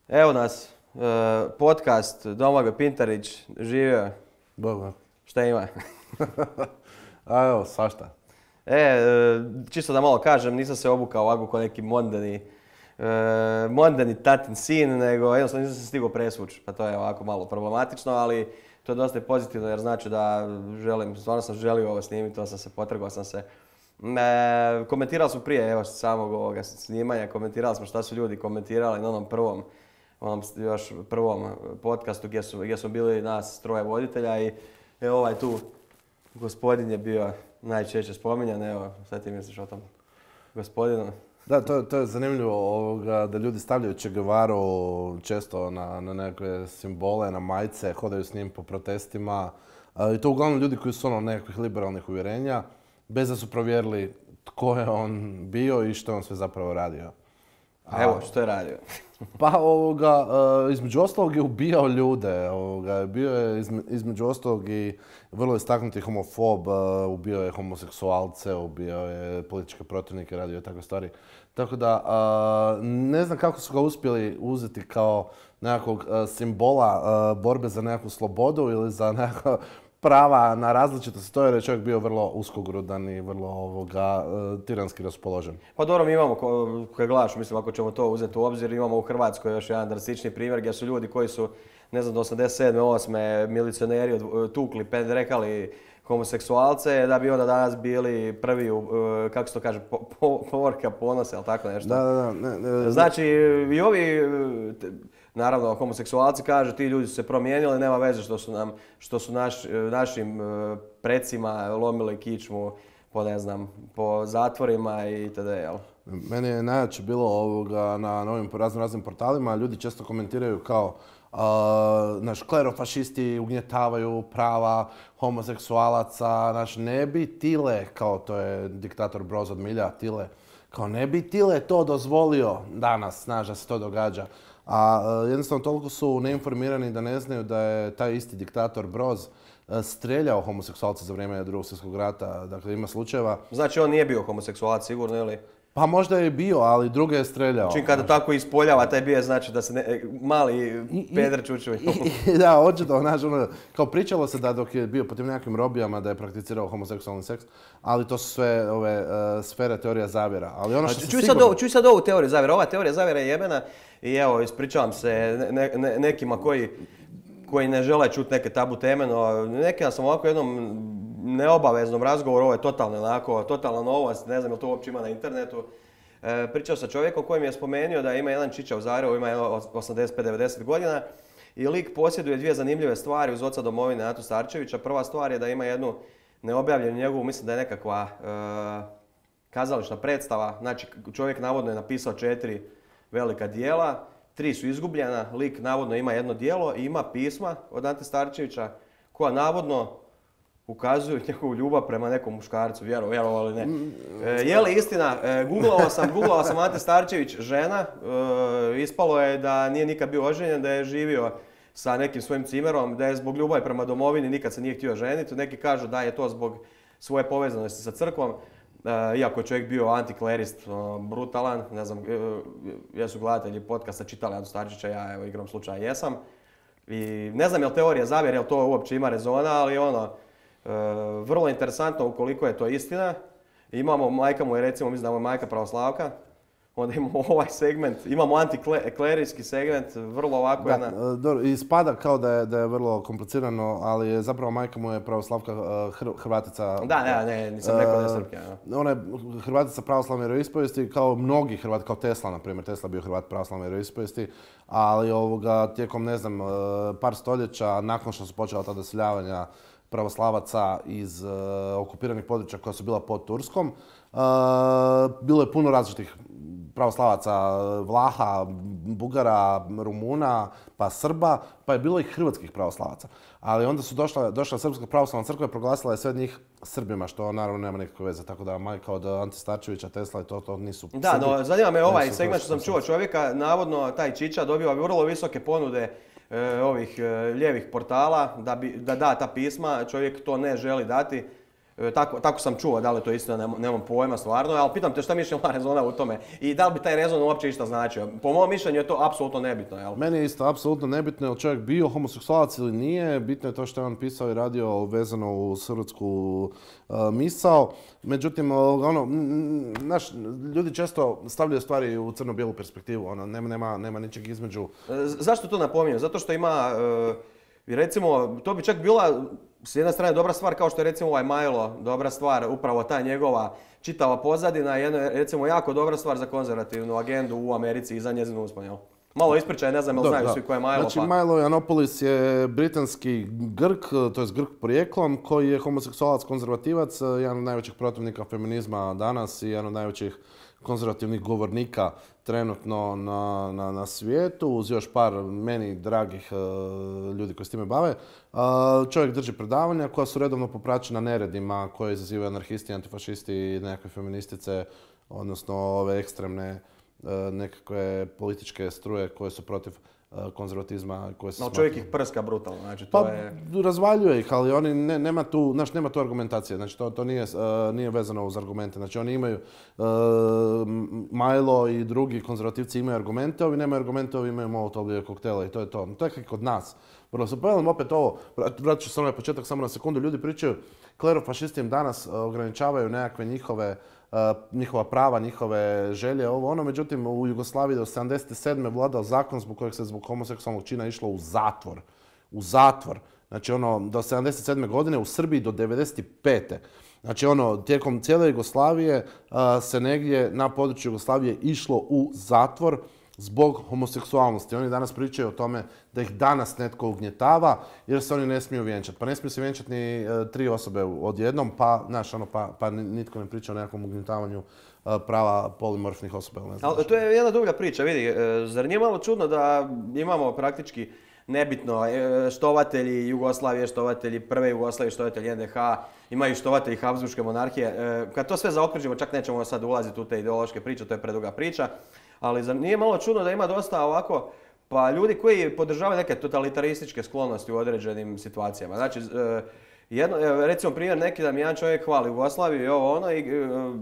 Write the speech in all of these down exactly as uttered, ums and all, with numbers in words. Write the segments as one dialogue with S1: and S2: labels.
S1: Evo nas, e, podcast Domagoj Pintarić, živio.
S2: Dobro.
S1: Šta ima?
S2: A evo, svašta.
S1: E, e, čisto da malo kažem, nisam se obukao ovako kao neki mondani, e, mondani tatin sin, nego jednostavno nisam se stigao presvući. Pa to je ovako malo problematično, ali to je dosta pozitivno jer znači da želim, stvarno sam želio ovo snimiti, to sam se potrgao sam se. E, komentirali smo prije evo, samog ovoga snimanja, komentirali smo šta su ljudi komentirali na onom prvom, onom još prvom podcastu gdje su, gdje smo bili nas troje voditelja i evo ovaj tu gospodin je bio najčešće spominjan, evo šta ti misliš o tom gospodinu?
S2: Da, to, to je zanimljivo ovoga, da ljudi stavljaju Che Guevaru često na, na neke simbole, na majice, hodaju s njim po protestima. A, I to uglavnom ljudi koji su ono nekakvih liberalnih uvjerenja, bez da su provjerili tko je on bio i što je on sve zapravo radio.
S1: A evo, što je radio?
S2: Pa ovoga, između ostalog je ubijao ljude, ovoga, bio je između ostalog i vrlo istaknuti homofob, ubio je homoseksualce, ubio je političke protivnike, radio je takve stvari. Tako da ne znam kako su ga uspjeli uzeti kao nekakvog simbola borbe za nekakvu slobodu ili za nekakva prava na različitost, to je čovjek bio vrlo uskogrudan i vrlo ovoga, tiranski raspoložen.
S1: Pa dobro, mi imamo, koje gledaš, mislim ako ćemo to uzeti u obzir, imamo u Hrvatskoj još jedan drastični primjer gdje su ljudi koji su, ne znam, do osamdeset sedme osme milicioneri tukli, pendrekali homoseksualce, da bi onda danas bili prvi, kako se to kaže, po, po, povorka ponosa, ili tako nešto.
S2: Da, da, da. Ne, ne,
S1: znači, i ovi, naravno, homoseksualci kažu ti ljudi su se promijenili, nema veze što su, nam, što su naš, našim precima lomili kičmu po, ne znam, po zatvorima i itd. Jel?
S2: Meni je najjače bilo ovoga na novim raznim raznim portalima, ljudi često komentiraju kao Uh, naš klerofašisti ugnjetavaju prava homoseksualaca, naš ne bi Tile, kao to je diktator Broz od milja, Tile, kao ne bi Tile to dozvolio danas, znaš da se to događa. A uh, jednostavno toliko su neinformirani da ne znaju da je taj isti diktator Broz uh, streljao homoseksualce za vrijeme Drugog svjetskog rata, dakle ima slučajeva.
S1: Znači on nije bio homoseksualac sigurno ili?
S2: Pa možda je bio, ali druge je streljao.
S1: Čim kada tako ispoljava taj bio, znači da se ne, mali peder čučuvi.
S2: Da, očito, znaš, ono, kao pričalo se da dok je bio po tim nekakvim robijama da je prakticirao homoseksualni seks, ali to su sve ove uh, sfere teorija zavjera. Ali ono što
S1: čuj,
S2: sigurno...
S1: sad čuj sad ovu teoriju zavjera. Ova teorija zavjera je jebena i evo, ispričavam se ne, ne, nekima koji, koji ne žele čuti neke tabu teme, no nekima sam ovako jednom neobaveznom razgovoru, ovo je totalno onako, totalna novost, ne znam je to uopće ima na internetu. E, pričao sa čovjekom koji mi je spomenuo da ima jedan čiča u Zagrebu, ima osamdeset pet do devedeset godina i lik posjeduje dvije zanimljive stvari uz oca domovine Atu Starčevića. Prva stvar je da ima jednu neobjavljenu njegovu, mislim da je nekakva e, kazališna predstava. Znači čovjek navodno je napisao četiri velika dijela, tri su izgubljena, lik navodno ima jedno dijelo i ima pisma od Ante Starčevića koja navodno ukazuju njegovu ljubav prema nekom muškarcu, vjero, vjerovali ne. E, je li istina, e, googlao sam, googlao sam Ante Starčević, žena, e, ispalo je da nije nikad bio oženjen, da je živio sa nekim svojim cimerom, da je zbog ljubavi prema domovini nikad se nije htio ženiti. Neki kažu da je to zbog svoje povezanosti sa crkvom, e, iako je čovjek bio antiklerist, o, brutalan, ne znam, e, jesu gledatelji podcasta čitali Antu Starčevića, ja evo igram slučaj jesam. I ne znam je li teorija zavjera, je li to uopće ima rezona, ali ono, Uh, vrlo interesantno ukoliko je to istina. Imamo, majka mu je recimo, mislim da mu je majka pravoslavka, onda imamo ovaj segment, imamo antiklerijski segment, vrlo ovako jedna...
S2: Da, ispada kao da je, da je vrlo komplicirano, ali je zapravo majka mu je pravoslavka Hr Hrvatica.
S1: Da, ne, ne, nisam rekao da je Srpka.
S2: Uh, ona je Hrvatica pravoslavne vjeroispovijesti, kao mnogi Hrvati, kao Tesla, na primjer. Tesla bio Hrvat pravoslavne vjeroispovijesti, ali ovoga, tijekom, ne znam, par stoljeća, nakon što su počela ta doseljavanja pravoslavaca iz uh, okupiranih područja koja su bila pod Turskom. Uh, bilo je puno različitih pravoslavaca, Vlaha, Bugara, Rumuna, pa Srba, pa je bilo i hrvatskih pravoslavaca. Ali onda su došla, došla Srpska pravoslavna crkva i proglasila je sve njih Srbima, što naravno nema nikakve veze. Tako da majka od Ante Starčevića, Tesla i to, to nisu
S1: Da, Srbi. No zanima me ovaj segment što sam čuo čovjeka, navodno taj Čiča dobiva vrlo visoke ponude e, ovih e, lijevih portala da, bi, da da ta pisma, čovjek to ne želi dati. Tako, tako sam čuo, da li to istina, nemam, nemam pojma stvarno, ali pitam te šta mišlja rezona u tome i da li bi taj rezon uopće išta značio. Po mom mišljenju je to apsolutno nebitno. Jel?
S2: Meni je isto apsolutno nebitno je li čovjek bio homoseksualac ili nije, bitno je to što je on pisao i radio vezano u hrvatsku uh, misao. Međutim, ono, naš, ljudi često stavljaju stvari u crno-bijelu perspektivu, ono, nema, nema, nema ničeg između.
S1: Zašto to napominjem? Zato što ima, uh, recimo, to bi čak bila s jedne strane dobra stvar kao što je recimo ovaj Milo, dobra stvar, upravo ta njegova čitava pozadina, jedna recimo jako dobra stvar za konzervativnu agendu u Americi i za njezinu uspon, jel? Malo ispričaj, ne znam jel znaju svi ko je Milo.
S2: Znači
S1: pa...
S2: Milo Yiannopoulos je britanski Grk, to je Grk porijeklom, koji je homoseksualac, konzervativac, jedan od najvećih protivnika feminizma danas i jedan od najvećih konzervativnih govornika trenutno na, na, na svijetu, uz još par meni dragih uh, ljudi koji s time bave. Uh, čovjek drži predavanja koja su redovno popraćena neredima koje izazivaju anarhisti, antifašisti i nekakve feministice, odnosno ove ekstremne uh, nekakve političke struje koje su protiv konzervatizma koje se
S1: no, čovjek ih prska brutalno, znači to
S2: pa,
S1: je...
S2: razvaljuje ih, ali oni ne, nema tu, znaš, nema tu argumentacije, znači to, to nije, uh, nije vezano uz argumente, znači oni imaju, uh, Milo i drugi konzervativci imaju argumente, ovi nemaju argumente, ovi imaju molotovljive koktele i to je to. To je kako kod nas. Vrlo se povedam opet ovo, vratit ću se na početak samo na sekundu, ljudi pričaju, klerofašisti im danas ograničavaju nekakve njihove Uh, njihova prava, njihove želje, ovo ono. Međutim, u Jugoslaviji do sedamdeset sedme vladao zakon zbog kojeg se zbog homoseksualnog čina išlo u zatvor. U zatvor. Znači ono, do sedamdeset sedme godine, u Srbiji do devedeset pete Znači ono, tijekom cijele Jugoslavije uh, se negdje na području Jugoslavije išlo u zatvor zbog homoseksualnosti. Oni danas pričaju o tome da ih danas netko ugnjetava jer se oni ne smiju vjenčati. Pa ne smiju se vjenčati ni e, tri osobe odjednom, pa, znaš, ono, pa, pa nitko ne priča o nekakvom ugnjetavanju e, prava polimorfnih osoba. Ne znam.
S1: Ali to je jedna druga priča, vidi. E, zar nije malo čudno da imamo praktički nebitno e, štovatelji Jugoslavije, štovatelji prve Jugoslavije, štovatelji en de ha, imaju štovatelji Habsburške monarhije. E, kad to sve zaokružimo, čak nećemo sad ulaziti u te ideološke priče, to je preduga priča. Ali zar nije malo čudno da ima dosta ovako, pa ljudi koji podržavaju neke totalitarističke sklonosti u određenim situacijama. Znači, jedno, recimo primjer neki da mi jedan čovjek hvali Jugoslaviju i ovo ono i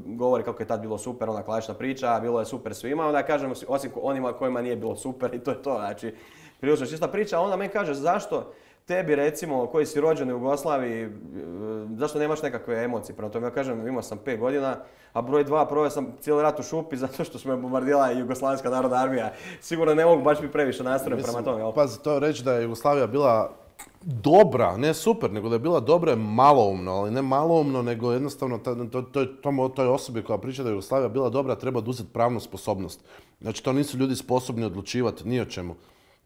S1: govori kako je tad bilo super, ona klasična priča, bilo je super svima, onda kažem osim onima kojima nije bilo super i to je to. Znači, prilično čista priča, a onda meni kaže zašto tebi recimo koji si rođen u Jugoslaviji, zašto nemaš nekakve emocije? Prema tome ja kažem, imao sam pet godina, a broj dva, proveo sam cijeli rat u šupi zato što su me bombardirala Jugoslavenska narodna armija. Sigurno ne mogu baš mi previše nastrojen prema tome. Jel?
S2: Pazi, to reći da je Jugoslavija bila dobra, ne super, nego da je bila dobra je maloumno, ali ne maloumno, nego jednostavno to, to, to, toj osobi koja priča da je Jugoslavija bila dobra treba oduzeti pravnu sposobnost. Znači, to nisu ljudi sposobni odlučivati ni o čemu.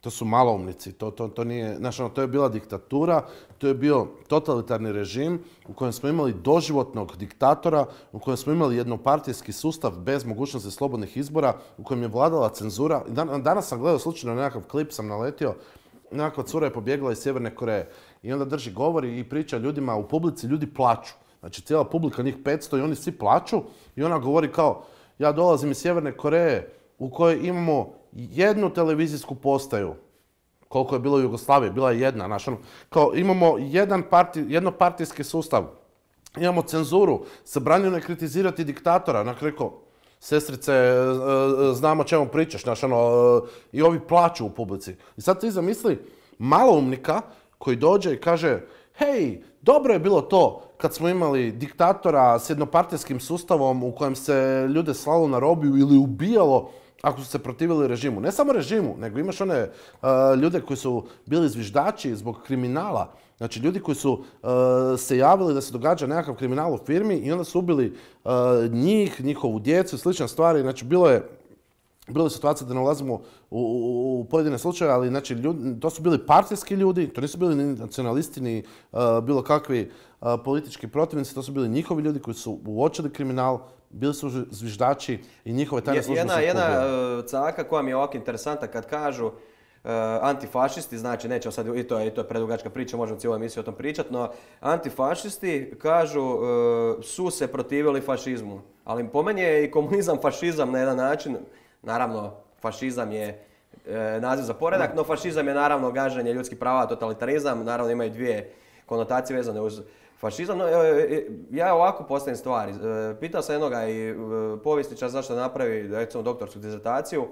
S2: To su maloumnici, to, to, to nije, znači, ono, to je bila diktatura, to je bio totalitarni režim u kojem smo imali doživotnog diktatora, u kojem smo imali jednopartijski sustav bez mogućnosti slobodnih izbora, u kojem je vladala cenzura. Dan, danas sam gledao slučajno nekakav klip, sam naletio, nekakva cura je pobjegla iz Sjeverne Koreje i onda drži govori i priča ljudima u publici, ljudi plaču. Znači cijela publika, njih petsto i oni svi plaču i ona govori kao, ja dolazim iz Sjeverne Koreje u kojoj imamo jednu televizijsku postaju, koliko je bilo u Jugoslaviji, bila je jedna, znaš, ono, kao imamo jedan parti, jednopartijski sustav, imamo cenzuru, zabranjeno je kritizirati diktatora, onak rekao, sestrice, znamo o čemu pričaš, znaš, ono, i ovi plaću u publici. I sad ti zamisli maloumnika koji dođe i kaže, hej, dobro je bilo to kad smo imali diktatora s jednopartijskim sustavom u kojem se ljude slalo na robiju ili ubijalo ako su se protivili režimu. Ne samo režimu, nego imaš one uh, ljude koji su bili zviždači zbog kriminala. Znači ljudi koji su uh, se javili da se događa nekakav kriminal u firmi i onda su ubili uh, njih, njihovu djecu i slične stvari. Znači bilo je Bilo je situacija da ne ulazimo u, u, u pojedine slučaje, ali znači, ljudi, to su bili partijski ljudi, to nisu bili ni nacionalisti, ni uh, bilo kakvi uh, politički protivnici, to su bili njihovi ljudi koji su uočili kriminal, bili su zviždači i njihove tajne službe su
S1: Jedna, jedna uh, caka koja mi je ovako interesantna kad kažu uh, antifašisti, znači nećemo sad, i to je, i to je predugačka priča, možemo cijelu emisiju o tom pričati, no antifašisti kažu uh, su se protivili fašizmu, ali po meni je i komunizam fašizam na jedan način. Naravno, fašizam je e, naziv za poredak, no fašizam je naravno gaženje ljudskih prava, totalitarizam. Naravno imaju dvije konotacije vezane uz Fašizam, no, ja ovako postavim stvari. Pitao sam jednoga i povjesničara zašto napravi, recimo, doktorsku dizertaciju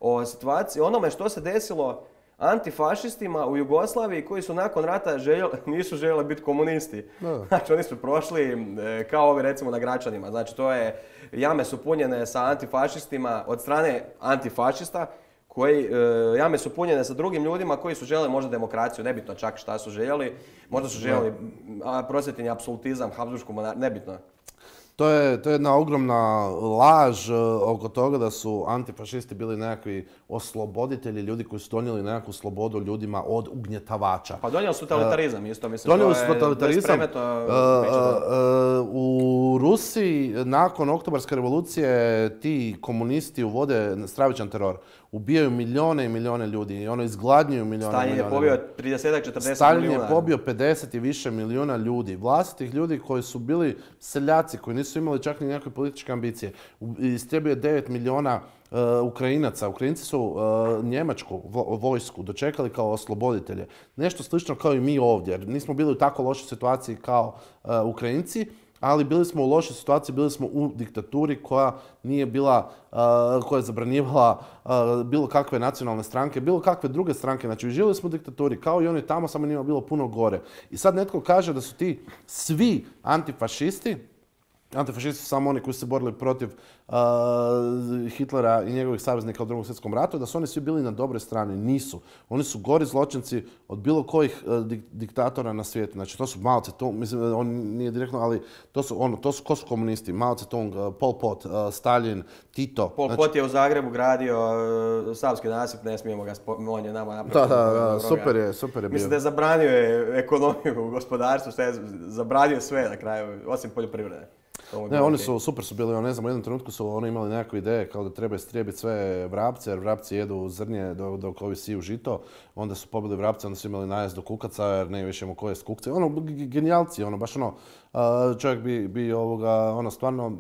S1: o situaciji, onome što se desilo antifašistima u Jugoslaviji koji su nakon rata željeli, nisu željeli biti komunisti. No. Znači oni su prošli kao ovi recimo na Gračanima. Znači to je, jame su punjene sa antifašistima od strane antifašista koji, jame su punjene sa drugim ljudima koji su željeli možda demokraciju, nebitno čak šta su željeli. Možda su željeli prosvjetni apsolutizam, Habsburgsku monarhiju, nebitno.
S2: To je, to je jedna ogromna laž oko toga da su antifašisti bili nekakvi osloboditelji, ljudi koji su donijeli nekakvu slobodu ljudima od ugnjetavača.
S1: Pa donijeli su totalitarizam, isto mislim.
S2: Donijeli su totalitarizam. U Rusiji nakon Oktobarske revolucije ti komunisti uvode stravičan teror. Ubijaju milijone i milijone ljudi i ono izgladnjuju milijone i milijone.
S1: Stalin je pobio trideset četrdeset milijuna.
S2: Stalin je pobio pedeset i više milijuna ljudi. Vlastitih ljudi koji su bili seljaci, koji nisu imali čak ni nekakve političke ambicije. Istrebio je devet milijuna uh, Ukrajinaca. Ukrajinci su uh, njemačku vojsku dočekali kao osloboditelje. Nešto slično kao i mi ovdje. Nismo bili u tako lošoj situaciji kao uh, Ukrajinci. Ali bili smo u lošoj situaciji, bili smo u diktaturi koja nije bila, uh, koja je zabranjivala uh, bilo kakve nacionalne stranke, bilo kakve druge stranke. Znači, živjeli smo u diktaturi, kao i oni tamo, samo njima bilo puno gore. I sad netko kaže da su ti svi antifašisti, antifašisti su samo oni koji su se borili protiv uh, Hitlera i njegovih saveznika u Drugom svjetskom ratu, da su oni svi bili na dobroj strani. Nisu. Oni su gori zločinci od bilo kojih uh, dik diktatora na svijetu. Znači, to su Mao Tse-tung, mislim, on nije direktno, ali to su, ono, to su, ko su komunisti? Mao Tse-tung, uh, Pol Pot, uh, Stalin, Tito.
S1: Pol
S2: znači,
S1: Pot je u Zagrebu gradio uh, Savski nasip, ne smijemo ga spomenuti, on je nama napravio.
S2: Da, da, da, super je, super je bio.
S1: Mislim da je zabranio je ekonomiju u gospodarstvu, što je zabranio sve na kraju, osim poljoprivrede.
S2: Ne, oni su, super su bili, ne znam, u jednom trenutku su oni imali nekakve ideje kao da treba istrijebiti sve vrapce, jer vrapci jedu zrnje dok, dok ovi siju žito. Onda su pobili vrapce, onda su imali najezd do kukaca, jer ne više imamo koje kukce. Ono, genijalci, ono, baš ono, čovjek bi, bi ovoga, ono, stvarno,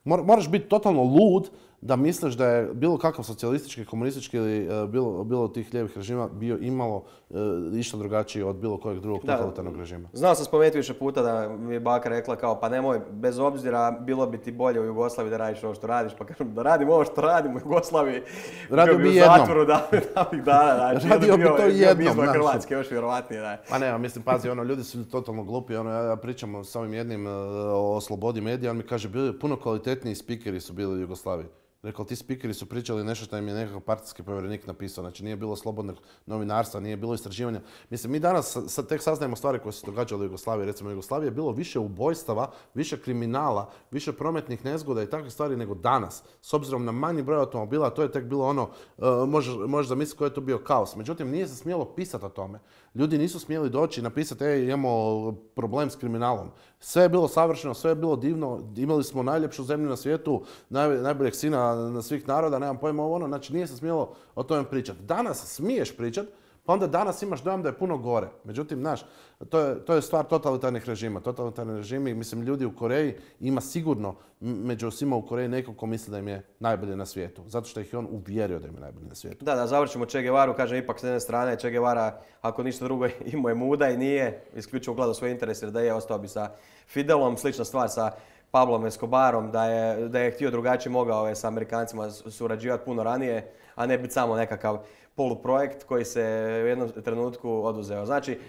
S2: moraš biti totalno lud da misliš da je bilo kakav socijalistički, komunistički ili uh, bilo, bilo tih lijevih režima bio imalo uh, išta drugačiji od bilo kojeg drugog totalitarnog režima.
S1: Znao sam spomenuti više puta da mi je baka rekla kao pa nemoj, bez obzira bilo bi ti bolje u Jugoslaviji da radiš ovo što radiš, pa kažem da radim ovo što radim u Jugoslaviji.
S2: Radio bi
S1: u
S2: jednom.
S1: Zatvoru davnih dana, znači.
S2: Radio bi to jednom.
S1: Bio bi Hrvatske, još vjerovatnije, da.
S2: Pa ne, mislim, pazi, ono, ljudi su totalno glupi, ono, ja, ja pričam s ovim jednim uh, o slobodi medija, on mi kaže, bili puno kvalitetniji spikeri su bili u Jugoslaviji. Rekao, ti spikeri su pričali nešto što im je nekakav partijski povjerenik napisao. Znači, nije bilo slobodnog novinarstva, nije bilo istraživanja. Mislim, mi danas sad tek saznajemo stvari koje se događale u Jugoslaviji. Recimo, u Jugoslaviji je bilo više ubojstava, više kriminala, više prometnih nezgoda i takvih stvari nego danas. S obzirom na manji broj automobila, to je tek bilo ono, uh, možeš, možeš zamisliti koji je to bio kaos. Međutim, nije se smjelo pisati o tome. Ljudi nisu smjeli doći i napisati, ej, imamo problem s kriminalom. Sve je bilo savršeno, sve je bilo divno, imali smo najljepšu zemlju na svijetu, naj, najboljeg sina na svih naroda, nemam pojma ovo ono, znači nije se smjelo o tome pričati. Danas smiješ pričati, pa onda danas imaš dojam da je puno gore. Međutim, znaš, to je, to je stvar totalitarnih režima. Totalitarni režimi, mislim, ljudi u Koreji ima sigurno među svima u Koreji neko ko misli da im je najbolje na svijetu. Zato što ih je on uvjerio da im je najbolje na svijetu.
S1: Da, da, završimo Che Guevaru, kažem ipak s jedne strane, Che Guevara, ako ništa drugo, imao je muda i nije isključivo gledao svoje interese, jer da je ostao bi sa Fidelom, slična stvar sa Pablom Escobarom, da je, da je htio drugačije mogao je sa Amerikancima surađivati puno ranije, a ne biti samo nekakav poluprojekt koji se u jednom trenutku oduzeo. Znači,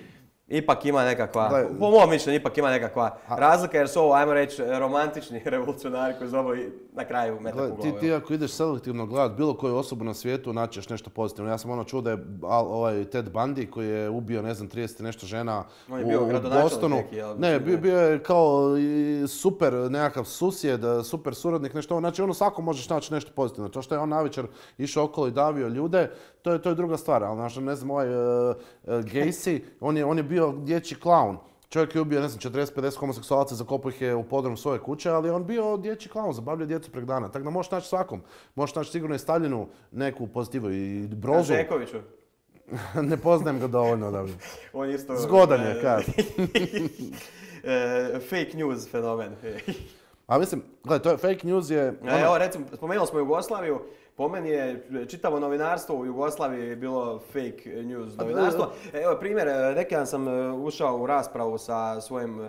S1: ipak ima nekakva, Gle, po mom mišljenju, ipak ima nekakva a, razlika jer su ovo, ajmo reći, romantični revolucionari koji zovu na kraju metak u glavu.
S2: Ti, ti ako ideš selektivno gledat bilo koju osobu na svijetu, naćeš nešto pozitivno. Ja sam ono čuo da je ovaj Ted Bundy koji je ubio, ne znam, trideset nešto žena
S1: on je bio u, u Bostonu. Neki, jel,
S2: ne, bio, bio je kao super nekakav susjed, super suradnik, nešto. Znači, ono svako možeš naći nešto pozitivno. To što je on navečer išao okolo i davio ljude, to je, to je druga stvar. Ali, znači, ne znam, ovaj uh, Gacy, on je, on je bio dječji klaun. Čovjek je ubio, ne znam, četrdeset pedeset homoseksualaca, zakopao ih je u podrum svoje kuće, ali on bio dječji klaun, zabavljao djecu prek dana. Tako da možeš naći svakom. Možeš naći sigurno i Staljinu neku pozitivu i Brozu.
S1: A Žekoviću?
S2: Ne poznajem ga dovoljno da bi.
S1: On isto...
S2: Zgodan je, kad.
S1: Fake news fenomen.
S2: A mislim, gledaj, to je fake news je...
S1: Ono... Evo, recimo, spomenuli smo Jugoslaviju, po meni je čitavo novinarstvo u Jugoslaviji bilo fake news novinarstvo. Evo primjer, neki dan sam ušao u raspravu sa svojim,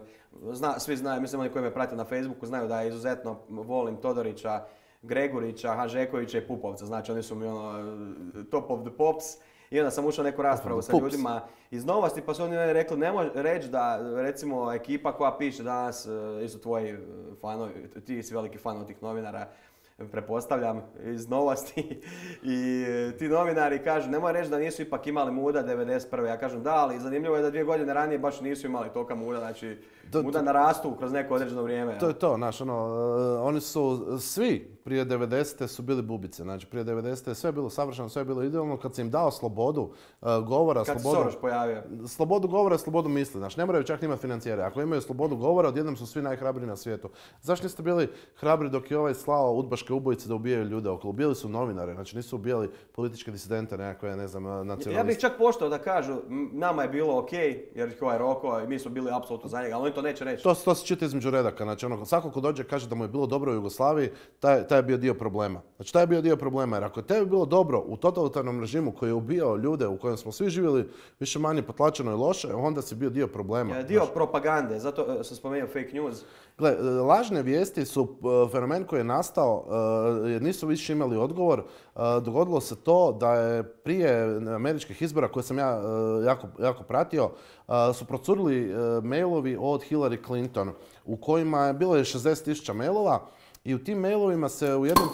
S1: zna, svi znaju, mislim oni koji me prate na Facebooku znaju da izuzetno volim Todorića, Gregurića, Hanžekovića i Pupovca, znači oni su mi ono top of the pops. I onda sam ušao u neku raspravu sa ljudima iz Novosti, pa su oni rekli, nemoj reći da recimo ekipa koja piše danas, isto tvoji fanovi, ti si veliki fan od tih novinara, pretpostavljam, iz Novosti. I ti novinari kažu, nemoj reći da nisu ipak imali muda devedeset prve. Ja kažem da, ali zanimljivo je da dvije godine ranije baš nisu imali tolika muda, znači to, muda to, narastu kroz neko određeno vrijeme.
S2: To je to, znaš, ono, uh, oni su svi prije devedesete su bili bubice, znači prije devedesete je sve bilo savršeno, sve je bilo idealno, kad si im dao slobodu uh, govora,
S1: kad
S2: slobodu...
S1: Kad se Soros pojavio.
S2: Slobodu govora, slobodu misli, znači ne moraju čak imati financijere. Ako imaju slobodu govora, odjednom su svi najhrabriji na svijetu. Zašto niste bili hrabri dok je ovaj slao udbaške ubojice da ubijaju ljude okolo? Ubijali su novinare, znači nisu ubijali političke disidente, nekakve, ne znam, nacionaliste.
S1: Ja bih čak poštao da kažu, nama je bilo ok, jer ih ovaj roko i mi smo bili apsolutno za njega, ali oni to neće reći.
S2: To, to se čita između redaka, znači ono, svako ko dođe kaže da mu je bilo dobro u Jugoslaviji, taj, taj je bio dio problema. Znači taj je bio dio problema, jer ako je tebi bilo dobro u totalitarnom režimu koji je ubijao ljude u kojem smo svi živjeli više manje potlačeno i loše, onda si bio dio problema.
S1: Dio znači, propagande, zato sam spomenuo fake news.
S2: Gle, lažne vijesti su uh, fenomen koji je nastao uh, jer nisu više imali odgovor. Uh, dogodilo se to da je prije američkih izbora koje sam ja uh, jako, jako pratio uh, su procurili uh, mailovi od Hillary Clinton u kojima je bilo je šezdeset tisuća mailova i u tim mailovima se u jednom...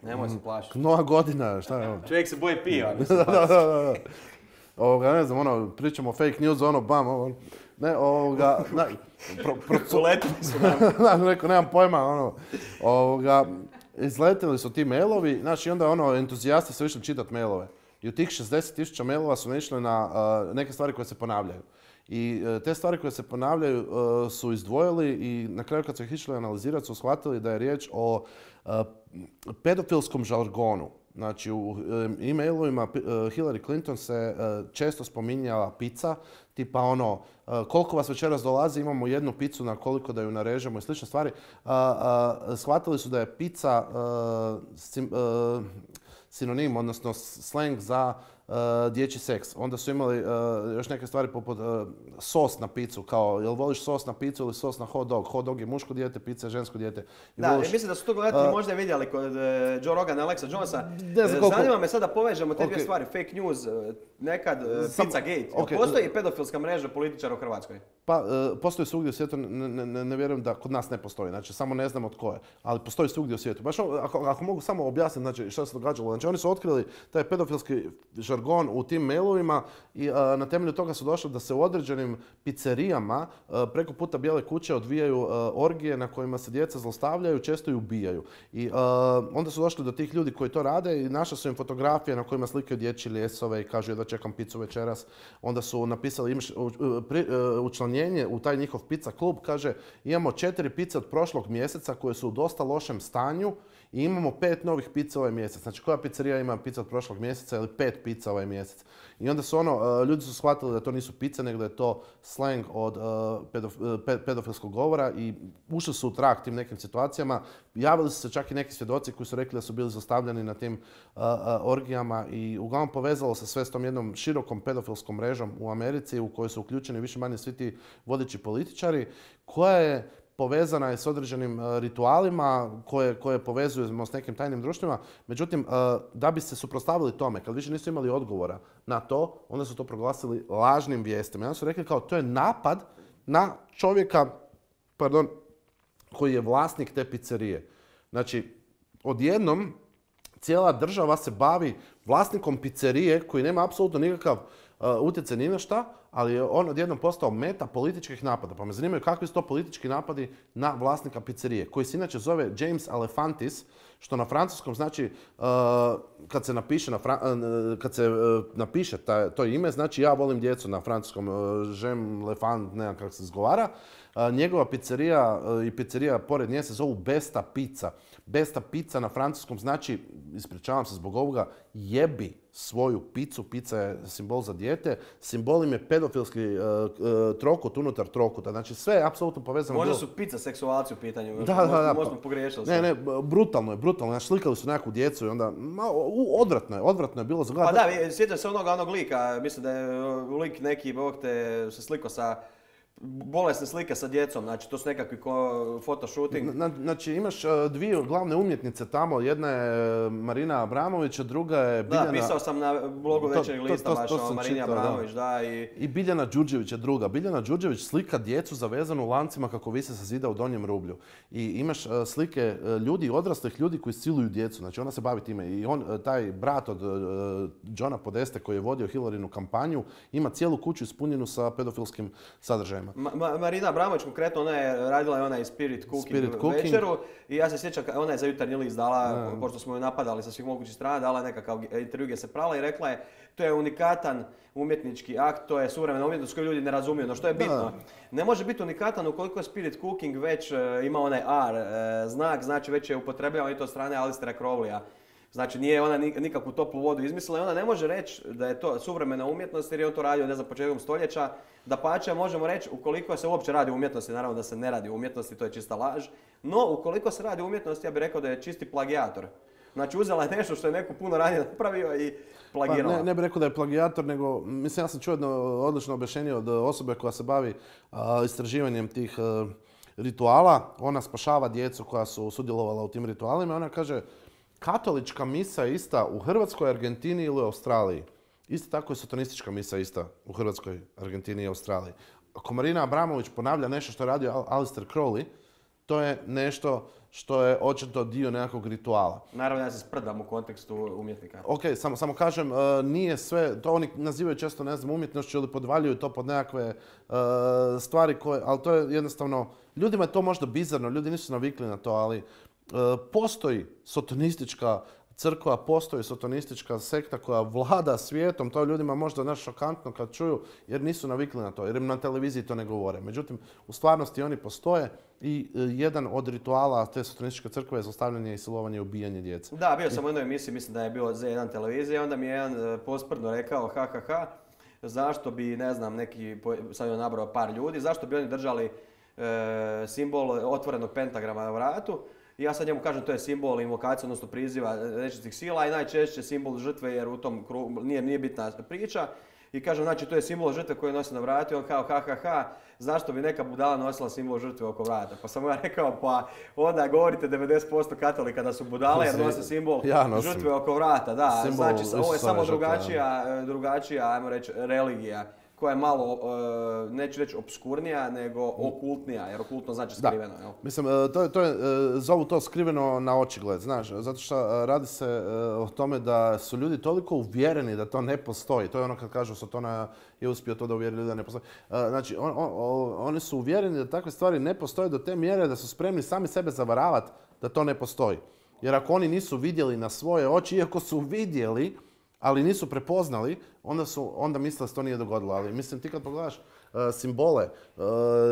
S1: Nemoj se plašiti.
S2: Nova godina, šta je ovo?
S1: Čovjek se boji piva.
S2: da, da, da, da. Ovoga, ne znam, ono, pričamo o fake news, ono, bam, ono, ne, ovoga, ne, pro, pro,
S1: Uletili su nam.
S2: Neko, nemam pojma, ono, ovoga, izletili su ti mailovi, znači, onda, ono, entuzijasti su išli čitati mailove. I u tih šezdeset tisuća mailova su išli na uh, neke stvari koje se ponavljaju. I uh, te stvari koje se ponavljaju uh, su izdvojili i na kraju kad su ih išli analizirati su shvatili da je riječ o uh, pedofilskom žargonu. Znači u e-mailovima Hillary Clinton se često spominjala pizza, tipa ono koliko vas večeras dolazi, imamo jednu picu na koliko da ju narežemo i slične stvari. Shvatili su da je pizza sinonim, odnosno slang za uh, dječji seks. Onda su imali uh, još neke stvari poput uh, sos na picu, kao jel voliš sos na picu ili sos na hot dog? Hot dog je muško dijete, pizza je žensko dijete.
S1: Da, voliš... mislim da su to gledatelji uh, možda vidjeli kod uh, Joe Rogan i Alexa Jonesa. Koliko... Zanima me sada povežemo te okay. dvije stvari, fake news, uh, nekad uh, Sam... Pizzagate. Okay. Postoji uh, pedofilska mreža političara u Hrvatskoj?
S2: Pa, uh, postoji svugdje u svijetu, ne, ne, ne vjerujem da kod nas ne postoji, znači samo ne znamo tko je, ali postoji svugdje u svijetu. Baš ako, ako mogu samo objasniti znači, što se događalo, znači oni su otkrili taj pedofilski žargon u tim mailovima i uh, na temelju toga su došli da se u određenim pizzerijama uh, preko puta Bijele kuće odvijaju uh, orgije na kojima se djeca zlostavljaju, često i ubijaju. I uh, onda su došli do tih ljudi koji to rade i našli su im fotografije na kojima slikaju dječje ljesove i kažu da čekam picu večeras. Onda su napisali imaš, uh, pri, uh, učlanjenje u taj njihov pizza klub, kaže imamo četiri pice od prošlog mjeseca koje su u dosta lošem stanju i imamo pet novih pizza ovaj mjesec. Znači koja pizzerija ima pizza od prošlog mjeseca ili pet pizza ovaj mjesec. I onda su ono, ljudi su shvatili da to nisu pice, nego da je to slang od uh, pedof, pedofilskog govora i ušli su u trag tim nekim situacijama. Javili su se čak i neki svjedoci koji su rekli da su bili zlostavljani na tim uh, uh, orgijama i uglavnom povezalo se sve s tom jednom širokom pedofilskom mrežom u Americi u kojoj su uključeni više manje svi ti vodeći političari, koja je povezana je s određenim uh, ritualima koje, koje povezujemo s nekim tajnim društvima. Međutim, uh, da bi se suprotstavili tome, kad više nisu imali odgovora na to, onda su to proglasili lažnim vijestima. I onda su rekli kao to je napad na čovjeka, pardon, koji je vlasnik te pizzerije. Znači, odjednom cijela država se bavi vlasnikom pizzerije koji nema apsolutno nikakav uh, utjecaj ni na šta, ali je on odjednom postao meta političkih napada. Pa me zanimaju kakvi su to politički napadi na vlasnika pizzerije, koji se inače zove James Alefantis, što na francuskom znači uh, kad se napiše, na fra, uh, kad se, uh, napiše ta, to ime, znači ja volim djecu na francuskom, uh, j'aime les fans, ne znam kako se izgovara. Uh, njegova pizzerija uh, i pizzerija pored nje se zovu Besta Pizza. Besta Pizza na francuskom znači, ispričavam se zbog ovoga, jebi. svoju picu, pizza je simbol za dijete, simbol im je pedofilski uh, uh, trokut unutar trokuta, znači sve je apsolutno povezano.
S1: Možda su pizza seksualci u pitanju,
S2: da, da, da,
S1: možda smo pogriješili.
S2: Ne, ne, brutalno je, brutalno, znači slikali su nekakvu djecu i onda, ma, odvratno je, odvratno je bilo za gledati.
S1: Pa da, sjećam se onoga onog lika, mislim da je lik neki, bog te, se slikao sa bolesne slike sa djecom, znači to su nekakvi fotoshooting.
S2: Znači imaš dvije glavne umjetnice tamo, jedna je Marina Abramović, a druga je Biljana...
S1: Da, pisao sam na blogu Večernjeg lista baš o Marini Abramović, da. I...
S2: I Biljana Đurđević je druga. Biljana Đurđević slika djecu zavezanu lancima kako vise sa zida u Donjem Rublju. I imaš slike ljudi, odraslih ljudi koji siluju djecu, znači ona se bavi time. I on, taj brat od Johna Podeste koji je vodio Hillarinu kampanju, ima cijelu kuću ispunjenu sa pedofilskim sadržajima.
S1: Ma, Marina Abramović konkretno, ona je radila je onaj Spirit Cooking, Spirit cooking večeru i ja se sjećam, ona je za Jutarnji list dala, ne. pošto smo ju napadali sa svih mogućih strana, dala je nekakav intervju gdje se prala i rekla je to je unikatan umjetnički akt, to je suvremena umjetnost koju ljudi ne razumiju, no što je bitno. Da. Ne može biti unikatan ukoliko je Spirit Cooking već uh, ima onaj R uh, znak, znači već je upotrebljavan i to od strane Alistera Crowleya. Znači nije ona nikakvu toplu vodu izmislila i ona ne može reći da je to suvremena umjetnost jer je on to radio ne znam početkom stoljeća. Dapače možemo reći ukoliko se uopće radi o umjetnosti, naravno da se ne radi o umjetnosti, to je čista laž. No ukoliko se radi o umjetnosti ja bih rekao da je čisti plagijator. Znači uzela je nešto što je neko puno ranije napravio i plagirala.
S2: Pa ne, ne bih rekao da je plagijator, nego mislim ja sam čuo jedno odlično objašnjenje od osobe koja se bavi a, istraživanjem tih a, rituala. Ona spašava djecu koja su sudjelovala u tim ritualima i ona kaže katolička misa je ista u Hrvatskoj, Argentini ili Australiji. Isto tako je satanistička misa ista u Hrvatskoj, Argentini i Australiji. Ako Marina Abramović ponavlja nešto što je radio Alistair Crowley, to je nešto što je očito dio nekakvog rituala.
S1: Naravno ja se sprdam u kontekstu umjetnika.
S2: Ok, samo, samo kažem, nije sve, to oni nazivaju često ne znam umjetnošću ili podvaljuju to pod nekakve uh, stvari koje, ali to je jednostavno, ljudima je to možda bizarno, ljudi nisu navikli na to, ali uh, postoji sotonistička crkva, postoji sotonistička sekta koja vlada svijetom, to ljudima možda naš šokantno kad čuju jer nisu navikli na to, jer im na televiziji to ne govore. Međutim, u stvarnosti oni postoje i jedan od rituala te sotonističke crkve je zlostavljanje i silovanje i ubijanje djece.
S1: Da, bio sam u jednoj emisiji, mislim da je bilo Z jedan televizije, onda mi je jedan posprdno rekao ha ha ha, zašto bi, ne znam, neki, sad je nabrao par ljudi, zašto bi oni držali e, simbol otvorenog pentagrama na vratu. I ja sad njemu kažem to je simbol invokacije, odnosno priziva nečistih sila i najčešće simbol žrtve jer u tom krugu nije, nije bitna priča. I kažem znači to je simbol žrtve koju nosi na vratu i on kao ha ha ha, zašto bi neka budala nosila simbol žrtve oko vrata? Pa sam ja rekao pa onda govorite devedeset posto katolika da su budale jer nose simbol ja žrtve oko vrata. Da, simbol znači ovo je samo drugačija, drugačija, ajmo reći, religija koja je malo, uh, neću reći obskurnija, nego okultnija, jer okultno znači skriveno.
S2: Da. Mislim, to je, to je, zovu to skriveno na očigled, znaš, zato što radi se o tome da su ljudi toliko uvjereni da to ne postoji. To je ono kad kažu Sotona je uspio to da uvjeri ljudi da ne postoji. Znači, on, on, oni su uvjereni da takve stvari ne postoje do te mjere da su spremni sami sebe zavaravati da to ne postoji. Jer ako oni nisu vidjeli na svoje oči, iako su vidjeli, ali nisu prepoznali, onda, su, onda misle da se to nije dogodilo. Ali mislim, ti kad pogledaš uh, simbole uh,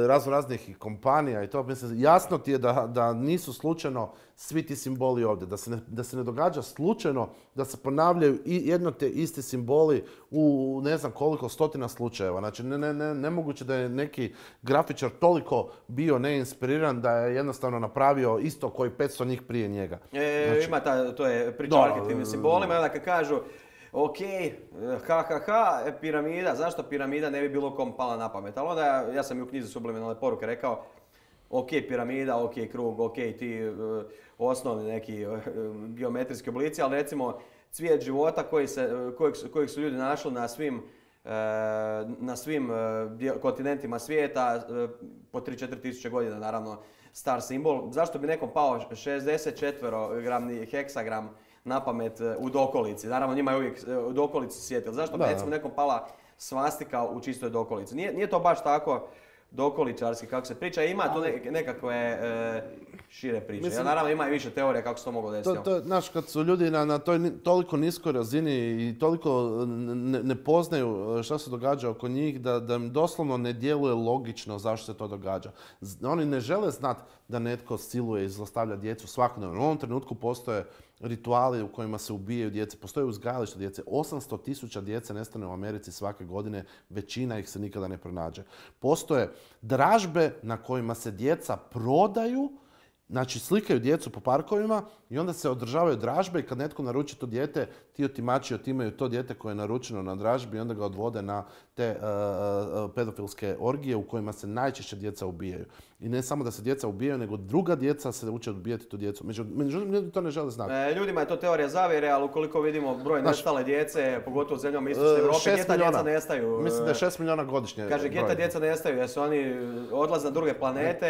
S2: razno raznih kompanija i to, mislim, jasno ti je da, da nisu slučajno svi ti simboli ovdje. Da se, ne, da se ne događa slučajno da se ponavljaju i jedno te isti simboli u ne znam koliko stotina slučajeva. Znači, ne, ne, ne, nemoguće da je neki grafičar toliko bio neinspiriran da je jednostavno napravio isto koji petsto njih prije njega.
S1: E, znači, ima ta, to je priča o arhitektivnim simbolima i onda kad kažu ok, ha ha ha, piramida, zašto piramida ne bi bilo kom pala na pamet? Ali onda ja, ja sam i u knjizi Subliminalne poruke rekao, ok, piramida, ok, krug, ok, ti uh, osnovni neki uh, geometrijski oblici, ali recimo cvijet života koji se, kojeg, kojeg su ljudi našli na svim, uh, na svim uh, kontinentima svijeta uh, po tri do četiri tisuće godina, naravno, star simbol. Zašto bi nekom pao šezdeset četverogramni heksagram na pamet u dokolici? Naravno njima je uvijek u dokolici sjetil. Zašto bi recimo nekom pala svastika u čistoj dokolici? Nije, nije to baš tako dokoličarski kako se priča, ima tu ne, nekakve e, šire priče. Mislim, ja, naravno ima i više teorije kako se to moglo desiti.
S2: To, to, znaš, kad su ljudi na, na toj toliko niskoj razini i toliko ne, ne poznaju šta se događa oko njih, da, da im doslovno ne djeluje logično zašto se to događa. Oni ne žele znati da netko siluje i zlostavlja djecu svakodnevno. U ovom trenutku postoje rituali u kojima se ubijaju djece, postoje uzgajalište djece. osamsto tisuća djece nestane u Americi svake godine, većina ih se nikada ne pronađe. Postoje dražbe na kojima se djeca prodaju, znači slikaju djecu po parkovima i onda se održavaju dražbe i kad netko naruči to dijete, ti otimači otimaju to dijete koje je naručeno na dražbi i onda ga odvode na te uh, uh, pedofilske orgije u kojima se najčešće djeca ubijaju. I ne samo da se djeca ubijaju, nego druga djeca se uče ubijati tu djecu. Međutim, ljudi to ne žele znati.
S1: E, ljudima je to teorija zavjere, ali ukoliko vidimo broj nestale djece, pogotovo u zemljama Istočne Europe, gdje ta djeca nestaju?
S2: Mislim da je šest milijuna godišnje.
S1: Kaže, gdje ta djeca nestaju, jer su oni odlaze na druge planete,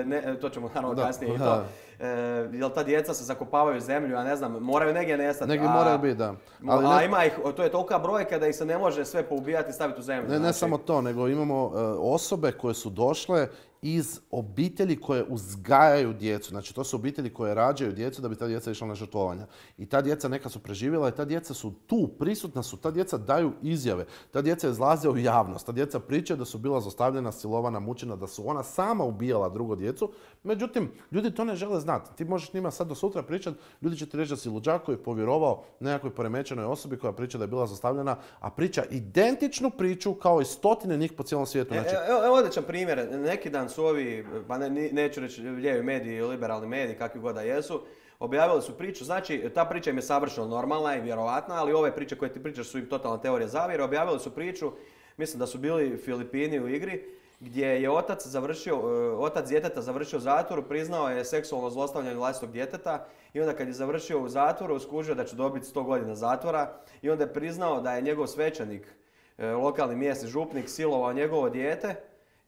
S1: ne, to ćemo naravno kasnije i to. E, jel ta djeca se zakopavaju u zemlju, ja ne znam, moraju negdje nestati.
S2: Negdje moraju biti, da.
S1: Ali a ne... ima ih, to je tolika brojka da ih se ne može sve poubijati i staviti u zemlju.
S2: Ne,
S1: znači...
S2: ne samo to, nego imamo uh, osobe koje su došle iz obitelji koje uzgajaju djecu. Znači, to su obitelji koje rađaju djecu da bi ta djeca išla na žrtvovanja. I ta djeca neka su preživjela i ta djeca su tu, prisutna su, ta djeca daju izjave. Ta djeca izlaze u javnost, ta djeca pričaju da su bila zlostavljena, silovana, mučena, da su ona sama ubijala drugu djecu. Međutim, ljudi to ne žele znati. Ti možeš njima sad do sutra pričati, ljudi će ti reći da si luđak koji je povjerovao nekakvoj poremećenoj osobi koja priča da je bila zlostavljena, a priča identičnu priču kao i stotine njih po cijelom svijetu. Znači...
S1: Evo e, e, odličan primjer. Neki dan su ovi, pa ne, neću reći lijevi mediji, liberalni mediji, kakvi god da jesu, objavili su priču. Znači, ta priča im je savršeno normalna i vjerovatna, ali ove priče koje ti pričaš su im totalna teorija zavjere. Objavili su priču, mislim da su bili Filipini u igri, gdje je otac završio, otac djeteta završio u zatvoru, priznao je seksualno zlostavljanje vlastitog djeteta i onda kad je završio u zatvoru, skužio da će dobiti sto godina zatvora i onda je priznao da je njegov svećenik, lokalni mjesni župnik, silovao njegovo dijete.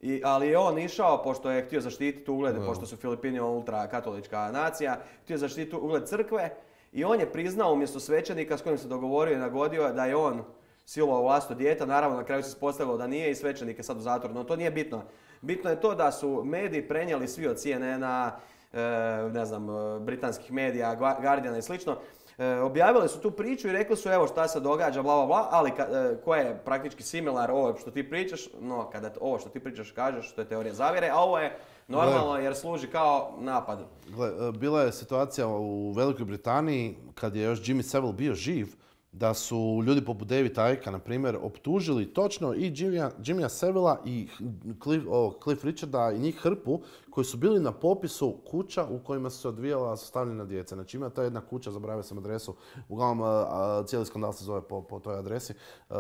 S1: I, ali je on išao, pošto je htio zaštititi ugled, no. pošto su Filipini ultrakatolička nacija, htio zaštititi ugled crkve i on je priznao umjesto svećenika s kojim se dogovorio i nagodio da je on silovao vlastito dijete. Naravno, na kraju se ispostavilo da nije i svećenik je sad u zatvoru, no to nije bitno. Bitno je to da su mediji prenijeli svi od C N N-a, ne znam, britanskih medija, Guardiana i slično. E, objavili su tu priču i rekli su evo šta se događa, bla bla bla, ali ka, e, koja je praktički similar ovo što ti pričaš, no kada ovo što ti pričaš kažeš, što je teorija zavjere, a ovo je normalno Gle, jer služi kao napad. Gle,
S2: bila je situacija u Velikoj Britaniji kad je još Jimmy Savile bio živ, da su ljudi poput Davida Icke, na primjer, optužili točno i Jimmya, Jimmya Savila i Cliff, oh, Cliff Richarda i njih hrpu koji su bili na popisu kuća u kojima su se odvijala zlostavljana djeca. Znači ima ta jedna kuća, zaboravio sam adresu, uglavnom a, cijeli skandal se zove po, po toj adresi. Uh,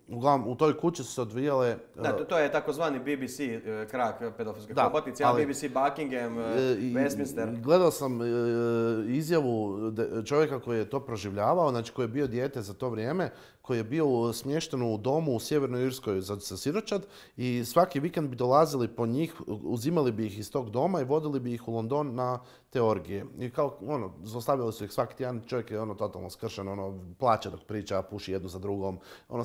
S2: uglavnom u toj kući su se odvijale... Uh,
S1: da, to, to je takozvani B B C uh, krak pedofilske hobotnice, ali B B C Buckingham, uh, Westminster.
S2: Gledao sam uh, izjavu de, čovjeka koji je to proživljavao, znači koji je bio dijete za to vrijeme, koji je bio smješten u domu u Sjevernoj Irskoj za, za siročad i svaki vikend bi dolazili po njih, uzimali bi ih iz tog doma i vodili bi ih u London na te orgije. I kao, ono, zlostavljali su ih svaki tjedan, čovjek je ono totalno skršen, ono, plaće dok priča, puši jednu za drugom, ono,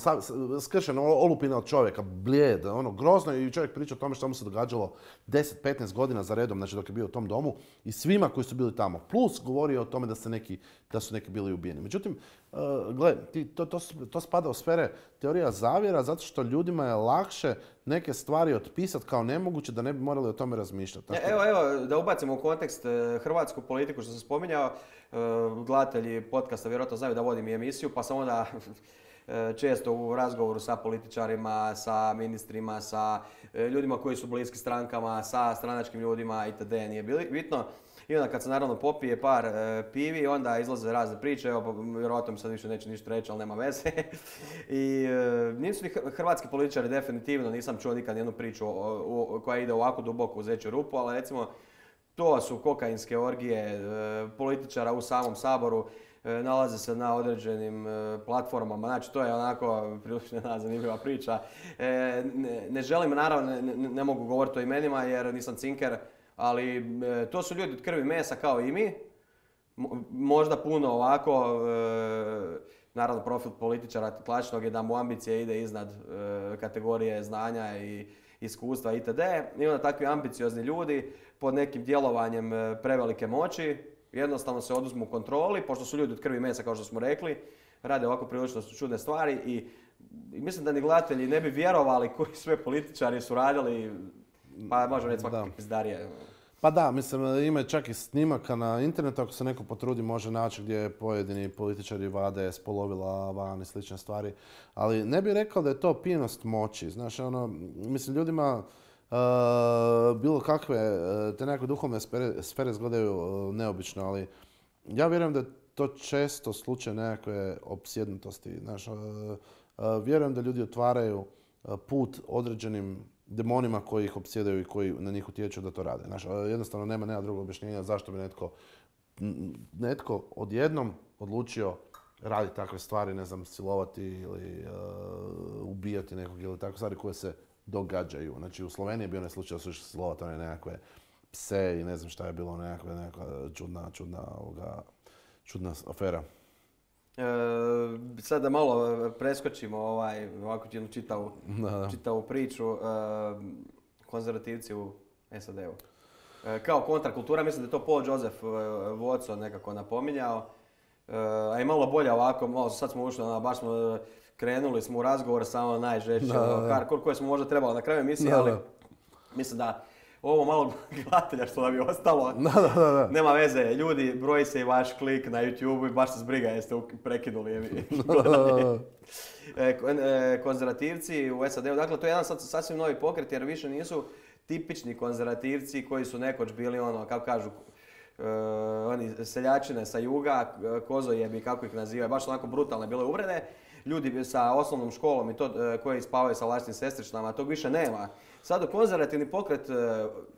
S2: skršen, olupina od čovjeka, blijed, ono, grozno i čovjek priča o tome što mu se događalo deset petnaest godina za redom, znači dok je bio u tom domu i svima koji su bili tamo. Plus govori o tome da, se neki, da su neki bili ubijeni. Međutim, uh, gle, to, to, to spada u sfere teorija zavjera zato što ljudima je lakše neke stvari otpisati kao nemoguće da ne bi morali o tome razmišljati.
S1: E, evo, evo, da ubacimo u kontekst e, hrvatsku politiku što sam spominjao, e, gledatelji podcasta vjerojatno znaju da vodim i emisiju, pa sam onda e, često u razgovoru sa političarima, sa ministrima, sa e, ljudima koji su bliski strankama, sa stranačkim ljudima itd. Nije bitno. I onda kad se naravno popije par e, pivi, onda izlaze razne priče, evo, vjerojatno mi sad više neće ništa reći, ali nema veze. I e, nisu ni hrvatski političari definitivno, nisam čuo nikad jednu priču o, o, koja ide ovako duboko u zeću rupu, ali recimo to su kokainske orgije e, političara u samom Saboru, e, nalaze se na određenim e, platformama, znači to je onako prilično jedna zanimljiva priča. E, ne, ne želim, naravno, ne, ne mogu govoriti o imenima jer nisam cinker, ali e, to su ljudi od krvi mesa kao i mi, Mo, možda puno ovako, e, naravno profil političara klasičnog je da mu ambicija ide iznad e, kategorije znanja i iskustva itd. I onda takvi ambiciozni ljudi pod nekim djelovanjem e, prevelike moći jednostavno se oduzmu kontroli, pošto su ljudi od krvi mesa kao što smo rekli, rade ovako prilično čudne stvari i, i mislim da ni gledatelji ne bi vjerovali koji sve političari su radili. Pa možemo reći svakakve pizdarije.
S2: Pa da, mislim, ima čak i snimaka na internetu, ako se neko potrudi može naći gdje pojedini političari vade spolovila van i slične stvari. Ali ne bih rekao da je to pijenost moći. Znaš, ono, mislim, ljudima uh, bilo kakve, te nekakve duhovne sfere, sfere izgledaju uh, neobično, ali ja vjerujem da je to često slučaj nekakve opsjednutosti. Znaš, uh, uh, vjerujem da ljudi otvaraju uh, put određenim demonima koji ih opsjedaju i koji na njih utječu da to rade. Znaš, jednostavno nema, nema drugog objašnjenja zašto bi netko, netko odjednom odlučio raditi takve stvari, ne znam, silovati ili uh, ubijati nekog ili takve stvari koje se događaju. Znači, u Sloveniji je bio onaj slučaj da su išli silovati one nekakve pse i ne znam šta je bilo, nekakve, nekakva čudna, čudna, ovoga, čudna afera.
S1: E, sad da malo preskočimo ovaj, ovako jednu čitavu, čitavu priču. E, konzervativci u S A D-u. E, kao kontrakultura, mislim da je to Paul Joseph Watson nekako napominjao. E, a i malo bolje ovako, malo, sad smo ušli, ono, baš smo krenuli smo u razgovor sa ono najžešće, hardcore koje smo možda trebali na kraju emisije, ali mislim da ovo malo gledatelja što nam je ostalo,
S2: da, da, da.
S1: Nema veze, ljudi, broji se i vaš klik na YouTube i baš se zbriga jeste prekinuli e, konzervativci u S A D-u. Dakle, to je jedan sad sasvim novi pokret jer više nisu tipični konzervativci koji su nekoć bili ono, kako kažu, uh, oni seljačine sa juga, kozojebi, kako ih nazivaju, baš onako brutalne bile uvrede. Ljudi sa osnovnom školom i to uh, koji spavaju sa vlastitim sestričnama, tog više nema. Sad u konzervativni pokret,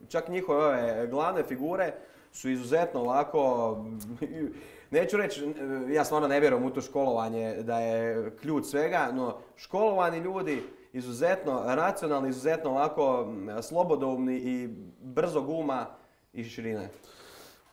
S1: čak njihove ove glavne figure su izuzetno ovako, neću reći, ja stvarno ne vjerujem u to školovanje da je ključ svega, no školovani ljudi, izuzetno racionalni, izuzetno ovako slobodoumni i brzog uma i širine.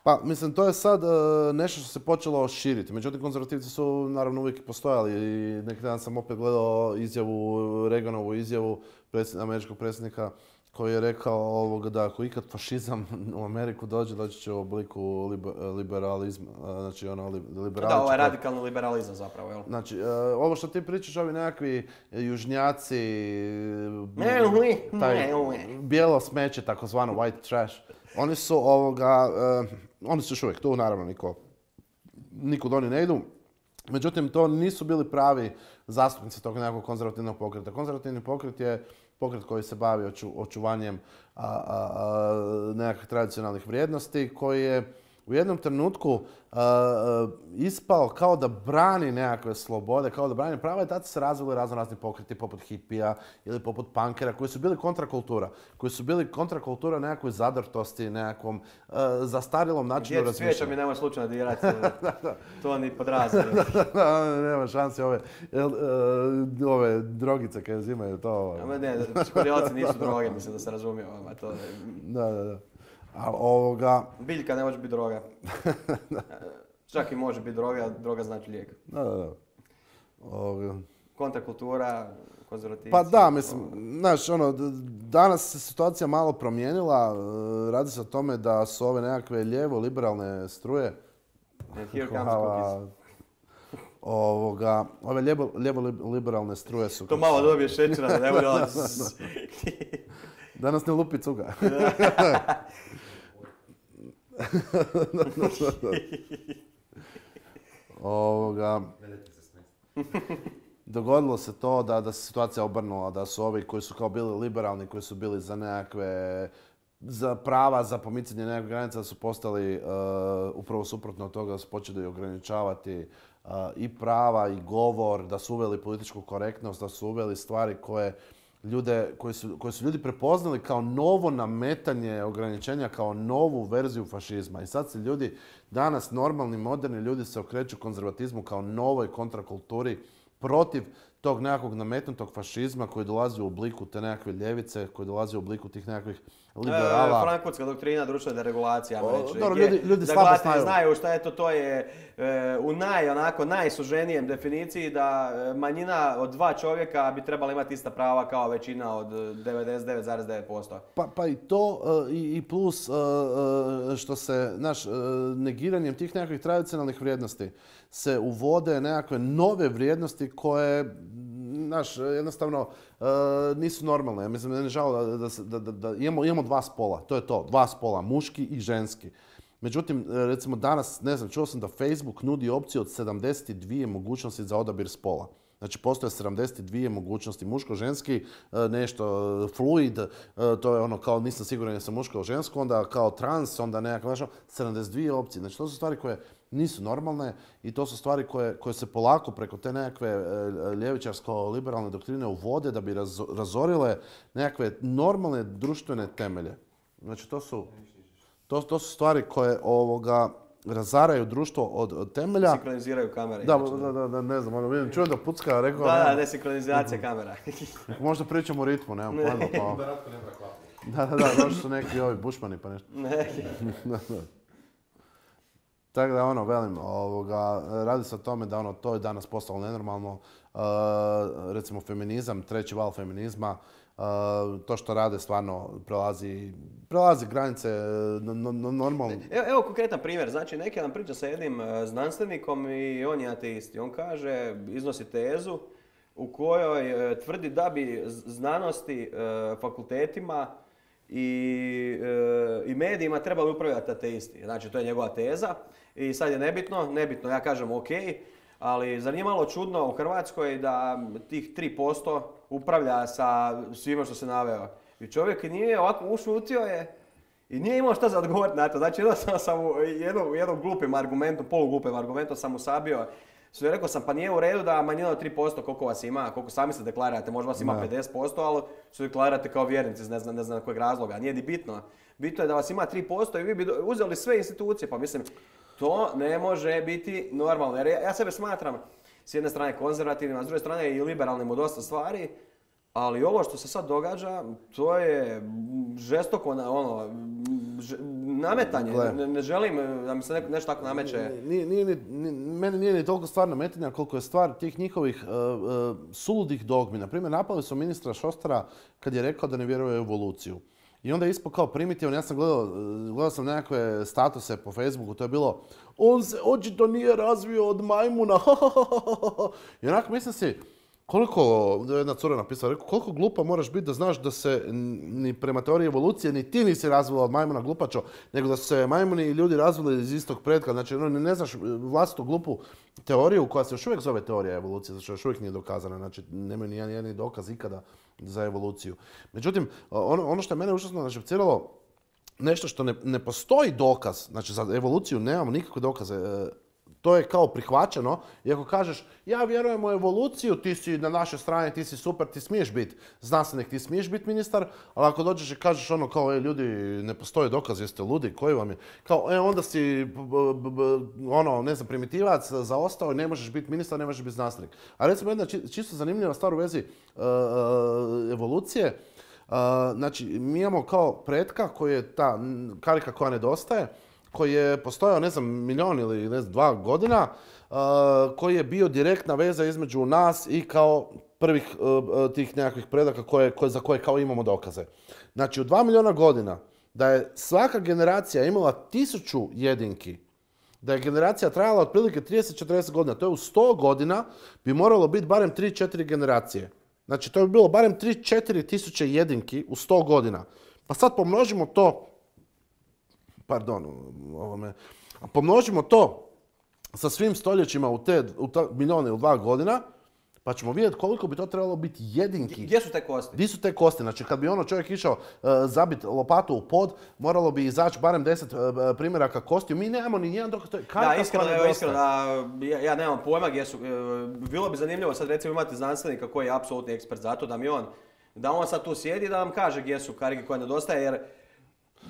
S2: Pa, mislim, to je sad uh, nešto što se počelo širiti. Međutim, konzervativci su naravno uvijek postojali i neki dan sam opet gledao izjavu, Reaganovu izjavu predsjed, američkog predsjednika koji je rekao ovoga da ako ikad fašizam u Ameriku dođe, doći će u obliku liber, liberalizma, znači ono liberaličko.
S1: Da, ovo je radikalni liberalizam zapravo, jel?
S2: Znači, uh, ovo što ti pričaš, ovi nekakvi južnjaci, taj bijelo smeće, takozvano white trash, oni su ovoga, uh, oni su još uvijek tu, naravno, niko, nikud oni ne idu. Međutim, to nisu bili pravi zastupnici tog nekakvog konzervativnog pokreta. Konzervativni pokret je pokret koji se bavi oču, očuvanjem a, a, a, nekakvih tradicionalnih vrijednosti, koji je u jednom trenutku a, a, ispao kao da brani nekakve slobode, kao da brani prava i tada se razvili razno razni pokreti poput hipija ili poput punkera koji su bili kontrakultura. Koji su bili kontrakultura nekakvoj zadrtosti, nekakvom a, zastarjelom načinu razmišljanja.
S1: Djeci svijeća mi nemoj slučajno dirati, to ni podrazili.
S2: Nema šanse ove, ove drogice koje uzimaju to.
S1: Ne, ne, psihodelici nisu droge, mislim da se razumije. To...
S2: Da, da, da. A ovoga...
S1: Biljka ne može biti droga. Čak i može biti droga, droga znači lijek.
S2: Da, da, da. Ovoga...
S1: Kontrakultura, konzervativci.
S2: Pa da, mislim, znaš, ono, danas se situacija malo promijenila. Radi se o tome da su ove nekakve lijevo-liberalne struje.
S1: And here comes cookies.
S2: Ovoga, ove lijevo-liberalne struje su...
S1: To malo dobije šećera, da ne bude ono...
S2: Danas ne lupi cuga. Ovoga, dogodilo se to da, da se situacija obrnula, da su ovi koji su kao bili liberalni, koji su bili za nekakve za prava, za pomicanje nekakve granica, da su postali uh, upravo suprotno od toga, da su počeli ograničavati uh, i prava i govor, da su uveli političku korektnost, da su uveli stvari koje ljude, koje su, koje su ljudi prepoznali kao novo nametanje ograničenja, kao novu verziju fašizma. I sad se ljudi, danas normalni, moderni ljudi se okreću konzervatizmu kao novoj kontrakulturi protiv tog nekakvog nametnutog fašizma koji dolazi u obliku te nekakve ljevice, koji dolazi u obliku tih nekakvih liberala.
S1: E, Frankfurtska doktrina društvene deregulacije, ajmo reći.
S2: Dobro, ljudi, ljudi slabo znaju.
S1: znaju šta je to, to je e, u naj, onako, najsuženijem definiciji da manjina od dva čovjeka bi trebala imati ista prava kao većina od devedeset devet zarez devet posto.
S2: Pa, pa i to i, i plus što se, znaš, negiranjem tih nekakvih tradicionalnih vrijednosti se uvode nekakve nove vrijednosti koje znaš, jednostavno nisu normalne. Ja mislim, ne žao da, da, da, da, da imamo, imamo dva spola, to je to, dva spola, muški i ženski. Međutim, recimo danas, ne znam, čuo sam da Facebook nudi opciju od sedamdeset dvije mogućnosti za odabir spola. Znači, postoje sedamdeset dvije mogućnosti, muško-ženski, nešto fluid, to je ono kao nisam siguran jesam muško ili žensko, onda kao trans, onda nekako, znači, sedamdeset dvije opcije. Znači, to su stvari koje nisu normalne i to su stvari koje, koje se polako preko te nekakve ljevičarsko-liberalne doktrine uvode da bi razorile nekakve normalne društvene temelje. Znači, to su, to, to su stvari koje ovoga, razaraju društvo od, od temelja.
S1: Sinkroniziraju kamere.
S2: Da, da, da, da, ne znam, ono, vidim, čujem da pucka, rekao...
S1: Da, da, desinkronizacija kamera.
S2: Možda pričamo o ritmu, nemam pojma, pa... Da, da, da, došli su neki ovi bušmani pa nešto.
S1: Neki.
S2: Tako da, ono, velim, ovoga, radi se o tome da ono, to je danas postalo nenormalno. Uh, recimo, feminizam, treći val feminizma, Uh, to što rade stvarno prelazi, prelazi granice no, no, normalno.
S1: Evo, evo konkretan primjer. Znači, neki nam priča sa jednim znanstvenikom i on je ateist. I on kaže, iznosi tezu u kojoj uh, tvrdi da bi znanosti, uh, fakultetima i, uh, i medijima trebali upravljati ateisti. Znači, to je njegova teza. I sad je nebitno, nebitno, ja kažem ok, ali zar nije malo čudno u Hrvatskoj da tih tri posto upravlja sa svima što se naveo. I čovjek nije ovako ušutio je i nije imao šta za odgovoriti na to. Znači jednostavno sam u jednom, jednom glupim argumentu, poluglupim argumentom sam usabio. Sve rekao sam pa nije u redu da manjina od tri posto koliko vas ima, koliko sami se deklarirate, možda vas ima ne. pedeset posto, ali se deklarirate kao vjernici, ne znam, ne znam kojeg razloga. Nije ni bitno. Bitno je da vas ima tri posto i vi bi uzeli sve institucije. Pa mislim, to ne može biti normalno. Jer ja, ja sebe smatram s jedne strane konzervativnim, a s druge strane i liberalnim u dosta stvari, ali ovo što se sad događa, to je žestoko ono, ž, nametanje. Ne, ne želim da mi se ne, nešto tako nameće.
S2: Nije, nije, nije, meni nije ni toliko stvar nametanja koliko je stvar tih njihovih uh, uh, suludih dogmi. Naprimjer, napali su ministra Šostara kad je rekao da ne vjeruje u evoluciju. I onda je ispao kao primitivan, ja sam gledao, gledao sam nekakve statuse po Facebooku, to je bilo on se očito nije razvio od majmuna, I onako mislim si, koliko, jedna cura napisala, rekao, koliko glupa moraš biti da znaš da se ni prema teoriji evolucije ni ti nisi razvila od majmuna glupačo, nego da su se majmuni i ljudi razvili iz istog pretka. Znači, ne znaš vlastitu glupu teoriju koja se još uvijek zove teorija evolucije, znači još uvijek nije dokazana, znači nemaju ni jedan dokaz ikada za evoluciju. Međutim, ono, ono što je mene užasno našepciralo, nešto što ne, ne postoji dokaz, znači za evoluciju nemamo nikakve dokaze, to je kao prihvaćeno i ako kažeš ja vjerujem u evoluciju, ti si na našoj strani, ti si super, ti smiješ biti znanstvenik, ti smiješ biti ministar, ali ako dođeš i kažeš ono kao e, ljudi ne postoji dokaz, jeste ludi, koji vam je, kao e onda si b, b, b, ono ne znam primitivac, zaostao i ne možeš biti ministar, ne možeš biti znanstvenik. A recimo jedna či, čisto zanimljiva stvar u vezi uh, evolucije, uh, znači mi imamo kao pretka koji je ta karika koja nedostaje, koji je postojao, ne znam, milion ili ne znam, dva godina, uh, koji je bio direktna veza između nas i kao prvih uh, tih nekakvih predaka koje, koje, za koje kao imamo dokaze. Znači, u dva miliona godina, da je svaka generacija imala tisuću jedinki, da je generacija trajala otprilike trideset do četrdeset godina, to je u sto godina bi moralo biti barem tri do četiri generacije. Znači, to bi bilo barem tri do četiri tisuće jedinki u sto godina. Pa sad pomnožimo to Pardon, ovome. Pomnožimo to sa svim stoljećima u te u ta, milijone ili dva godina, pa ćemo vidjeti koliko bi to trebalo biti jedinki.
S1: Gdje su te kosti?
S2: Gdje su te kosti? Znači, kad bi ono čovjek išao uh, zabiti lopatu u pod, moralo bi izaći barem deset uh, primjeraka kostiju. Mi nemamo ni jedan dokaz.
S1: Da, iskreno, evo, iskreno da, ja, ja nemam pojma gdje su. Bilo bi zanimljivo sad recimo imati znanstvenika koji je apsolutni ekspert za to, da mi on, da on sad tu sjedi i da nam kaže gdje su karike koje nedostaje, jer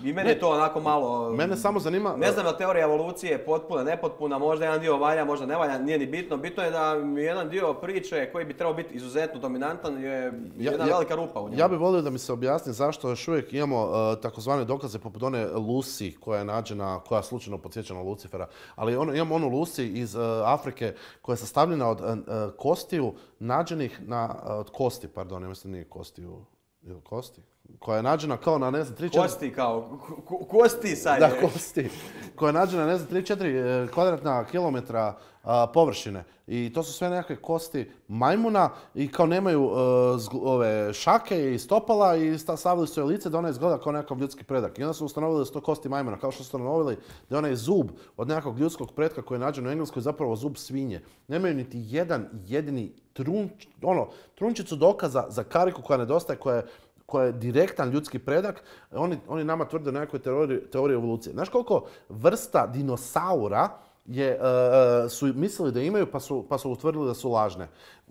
S1: i meni je to onako malo...
S2: Mene samo zanima...
S1: Ne znam da teorija evolucije je potpuna, nepotpuna, možda jedan dio valja, možda ne valja, nije ni bitno. Bitno je da jedan dio priče koji bi trebao biti izuzetno dominantan je jedna ja, velika rupa u njemu.
S2: Ja bih volio da mi se objasni zašto još uvijek imamo uh, takozvane dokaze poput one Lucy koja je nađena, koja slučajno podsjeća na Lucifera. Ali ono, imamo onu Lucy iz uh, Afrike koja je sastavljena od uh, kostiju nađenih na... Uh, od kosti, pardon, ja mislim nije kostiju... Ili kosti? Koja je nađena kao na, ne znam, tri četiri...
S1: Kosti kao, ko, kosti sad
S2: Da, kosti. koja je nađena, ne znam, tri četiri kvadratna kilometra a, površine. I to su sve nekakve kosti majmuna i kao nemaju a, zg, ove šake i stopala i stavili su joj lice da ona izgleda kao nekakav ljudski predak. I onda su ustanovili da su to kosti majmuna, kao što su ustanovili da je onaj zub od nekakvog ljudskog pretka koji je nađen u Engleskoj zapravo zub svinje. Nemaju niti jedan jedini trunč, ono, trunčicu dokaza za kariku koja nedostaje, koja je koja je direktan ljudski predak, oni, oni nama tvrde nekakve teorije, teorije evolucije. Znaš koliko vrsta dinosaura je, uh, su mislili da imaju pa su, pa su utvrdili da su lažne.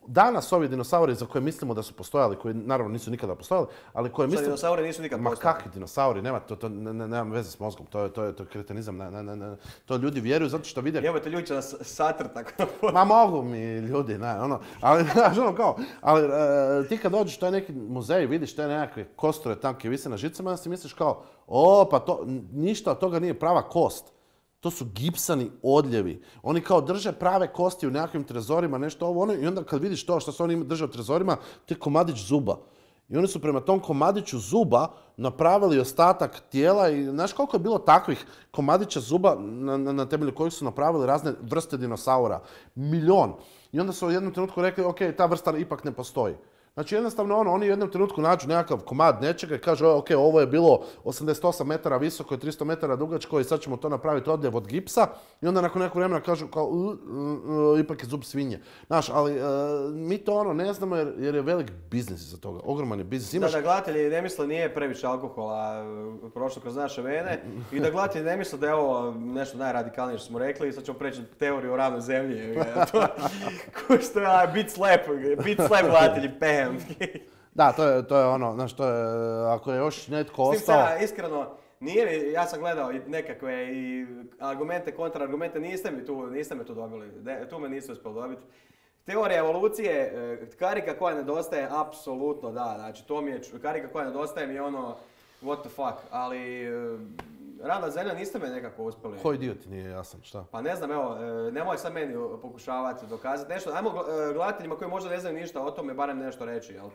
S2: Danas ovi dinosauri za koje mislimo da su postojali, koji naravno nisu nikada postojali, ali koje mislimo...
S1: dinosauri nisu nikad postojali.
S2: Ma kakvi dinosauri, nema, to, to ne, ne, nema veze s mozgom, to je, to je, to je kretenizam, ne, ne, ne, to ljudi vjeruju zato što vide...
S1: Evo te ljudi će nas satrt tako.
S2: Ma mogu mi ljudi, ne, ono, ali, znaš, ono kao, ali uh, ti kad dođeš u taj neki muzej, vidiš te nekakve kosture tanke vise na žicama, onda si misliš kao, o, pa to, ništa od toga nije prava kost. To su gipsani odljevi. Oni kao drže prave kosti u nekakvim trezorima, nešto ovo ono, i onda kad vidiš to što se oni drže u trezorima, to je komadić zuba. I oni su prema tom komadiću zuba napravili ostatak tijela i znaš koliko je bilo takvih komadića zuba na, na, na temelju kojih su napravili razne vrste dinosaura? Milion. I onda su u jednom trenutku rekli, ok, ta vrsta ipak ne postoji. Znači jednostavno ono, oni u jednom trenutku nađu nekakav komad nečega i kažu, ok, ovo je bilo osamdeset osam metara visoko i tristo metara dugačko i sad ćemo to napraviti odljev od gipsa i onda nakon nekog vremena kažu kao, uh, uh, uh, ipak je zub svinje. Znaš, ali uh, mi to ono ne znamo jer, jer je velik biznis iza toga, ogroman je biznis. Imaš...
S1: Da, da gledatelji ne misle nije previše alkohola prošlo kroz naše vene i da gledatelji ne misle da je ovo nešto najradikalnije što smo rekli i sad ćemo preći teoriju o ravnoj zemlji. Ko što je bit slap, bit slap gledatelji, pam.
S2: Da, to je, to je ono, znaš, to je, ako je još netko ostao...
S1: S tim iskreno, nije mi, ja sam gledao i nekakve i argumente, kontraargumente, niste mi tu, niste me tu dobili, de, tu me niste uspjeli dobiti. Teorija evolucije, karika koja nedostaje, apsolutno da, znači to mi je, karika koja nedostaje mi je ono, what the fuck, ali... Ravna zemlja niste me nekako uspjeli.
S2: Koji dio ti nije jasan, šta?
S1: Pa ne znam, evo, nemoj sad meni pokušavati dokazati nešto. Ajmo gledateljima koji možda ne znaju ništa o tome, barem nešto reći, jel?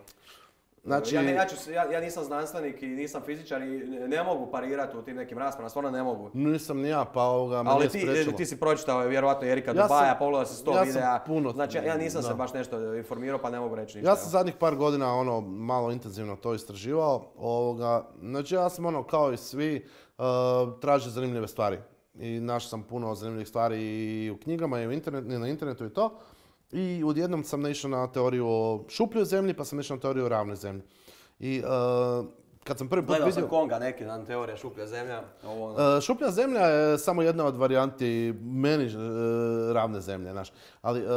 S1: Znači... Ja, ja, ću, ja, ja nisam znanstvenik i nisam fizičar i ne mogu parirati u tim nekim raspravama, stvarno ne mogu.
S2: Nisam ni ja, pa ovoga me
S1: ali
S2: nije
S1: ti,
S2: spriječilo.
S1: ti si pročitao vjerovatno Erika
S2: ja
S1: Dubaja, pogledao si sto
S2: ja
S1: videa.
S2: Puno,
S1: znači ja nisam
S2: da.
S1: se baš nešto informirao pa ne mogu reći ništa.
S2: Ja sam zadnjih par godina ono malo intenzivno to istraživao. Ovoga, znači ja sam ono kao i svi uh, tražio zanimljive stvari. I našao sam puno zanimljivih stvari i u knjigama i, u internet, i na internetu i to. I odjednom sam naišao na teoriju o šupljoj zemlji pa sam naišao na teoriju o ravnoj zemlji. I uh, kad sam prvi put
S1: Gledao
S2: vidio...
S1: sam Konga neki dan, teorija šuplja zemlja. Ovo...
S2: Uh, šuplja zemlja je samo jedna od varijanti meni uh, ravne zemlje, znaš. Ali uh,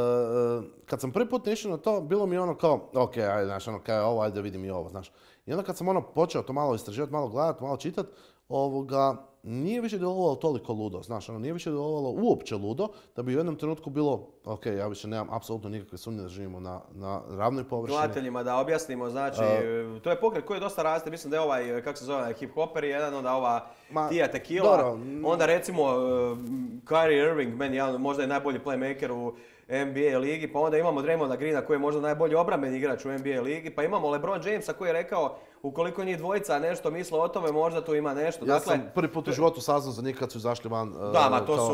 S2: kad sam prvi put naišao na to, bilo mi ono kao, ok, ajde, znaš, ono, kaj je ovo, ajde vidim i ovo, znaš. I onda kad sam ono počeo to malo istraživati, malo gledati, malo čitati, ovoga, nije više djelovalo toliko ludo, znaš, ono, nije više djelovalo uopće ludo, da bi u jednom trenutku bilo, ok, ja više nemam apsolutno nikakve sumnje da živimo na, na ravnoj površini.
S1: Gledateljima da objasnimo, znači, uh, to je pokret koji dosta raste, mislim da je ovaj, kako se zove, hip-hoper jedan, onda ova ma, Tia Tequila, dobro. Onda recimo uh, Kyrie Irving, meni jedan, možda je najbolji playmaker u N B A ligi, pa onda imamo Draymonda Greena koji je možda najbolji obrambeni igrač u N B A ligi, pa imamo LeBron Jamesa koji je rekao ukoliko njih dvojica nešto misle o tome, možda tu ima nešto.
S2: Ja
S1: dakle,
S2: sam prvi put u životu saznao za njih kad su izašli van. Uh,
S1: da, ma to
S2: kao...
S1: su,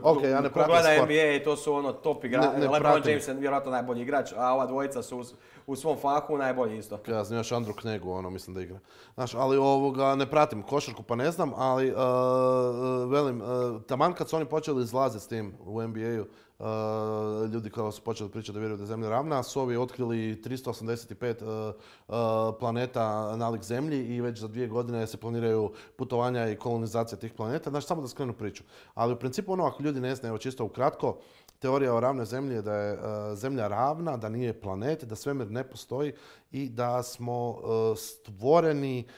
S2: okay, ja ne
S1: ko gleda N B A, to su ono top igrači. LeBron James je vjerojatno najbolji igrač, a ova dvojica su u, u svom fahu najbolji isto.
S2: Ja znam još Andru Knegu, ono mislim da igra. Znaš, ali ovoga, ne pratim košarku pa ne znam, ali uh, velim, uh, taman kad su oni počeli izlaziti s tim u N B A-u, Uh, ljudi koji su počeli pričati da vjeruju da je Zemlja ravna, su ovi otkrili tristo osamdeset pet uh, uh, planeta nalik Zemlji i već za dvije godine se planiraju putovanja i kolonizacija tih planeta. Znači, samo da skrenu priču. Ali u principu ono, ako ljudi ne znaju, evo čisto ukratko, teorija o ravnoj Zemlji je da je uh, Zemlja ravna, da nije planet, da svemir ne postoji i da smo uh, stvoreni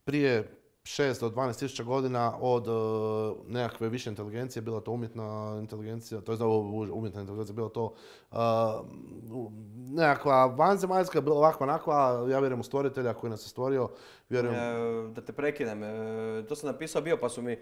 S2: prije šest do dvanaest tisuća godina od uh, nekakve više inteligencije, bila to umjetna inteligencija, to je za umjetna inteligencija, bila to uh, nekakva vanzemaljska, bila ovakva onakva, ja vjerujem u stvoritelja koji nas je stvorio. Vjerujem...
S1: E, da te prekinem, e, to sam napisao bio pa su mi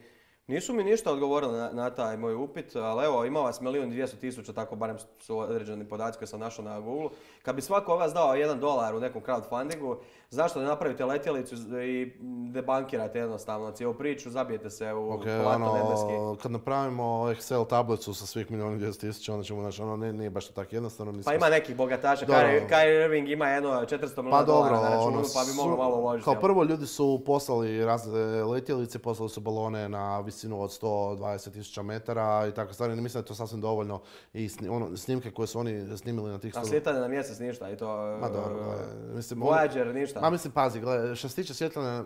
S1: Nisu mi ništa odgovorili na, na taj moj upit, ali evo, ima vas milijun i dvjesto tisuća, tako barem su određeni podaci koje sam našao na Google. Kad bi svako od vas dao jedan dolar u nekom crowdfundingu, zašto ne napravite letjelicu i debankirate jednostavno cijelu priču, zabijete se u
S2: okay,
S1: plato
S2: ono,
S1: nebeski.
S2: kad napravimo Excel tablicu sa svih milijun i dvjesto tisuća, onda ćemo naći, ono nije, nije baš tako jednostavno.
S1: Pa ima nekih bogataša, Kyrie, Kyrie Irving ima jedno četiristo milijuna
S2: pa
S1: dolara na računu,
S2: ono,
S1: pa bi moglo malo uložiti.
S2: Kao prvo ljudi su poslali razne letjelice, poslali su balone na visinu od sto dvadeset tisuća metara i tako stvari. Ne mislim da je to sasvim dovoljno i sni, ono, snimke koje su oni snimili na tih sto...
S1: A sljetanje na mjesec ništa i to...
S2: Ma dobro, mislim...
S1: Voyager ništa.
S2: Ma mislim, pazi, gledaj, što se tiče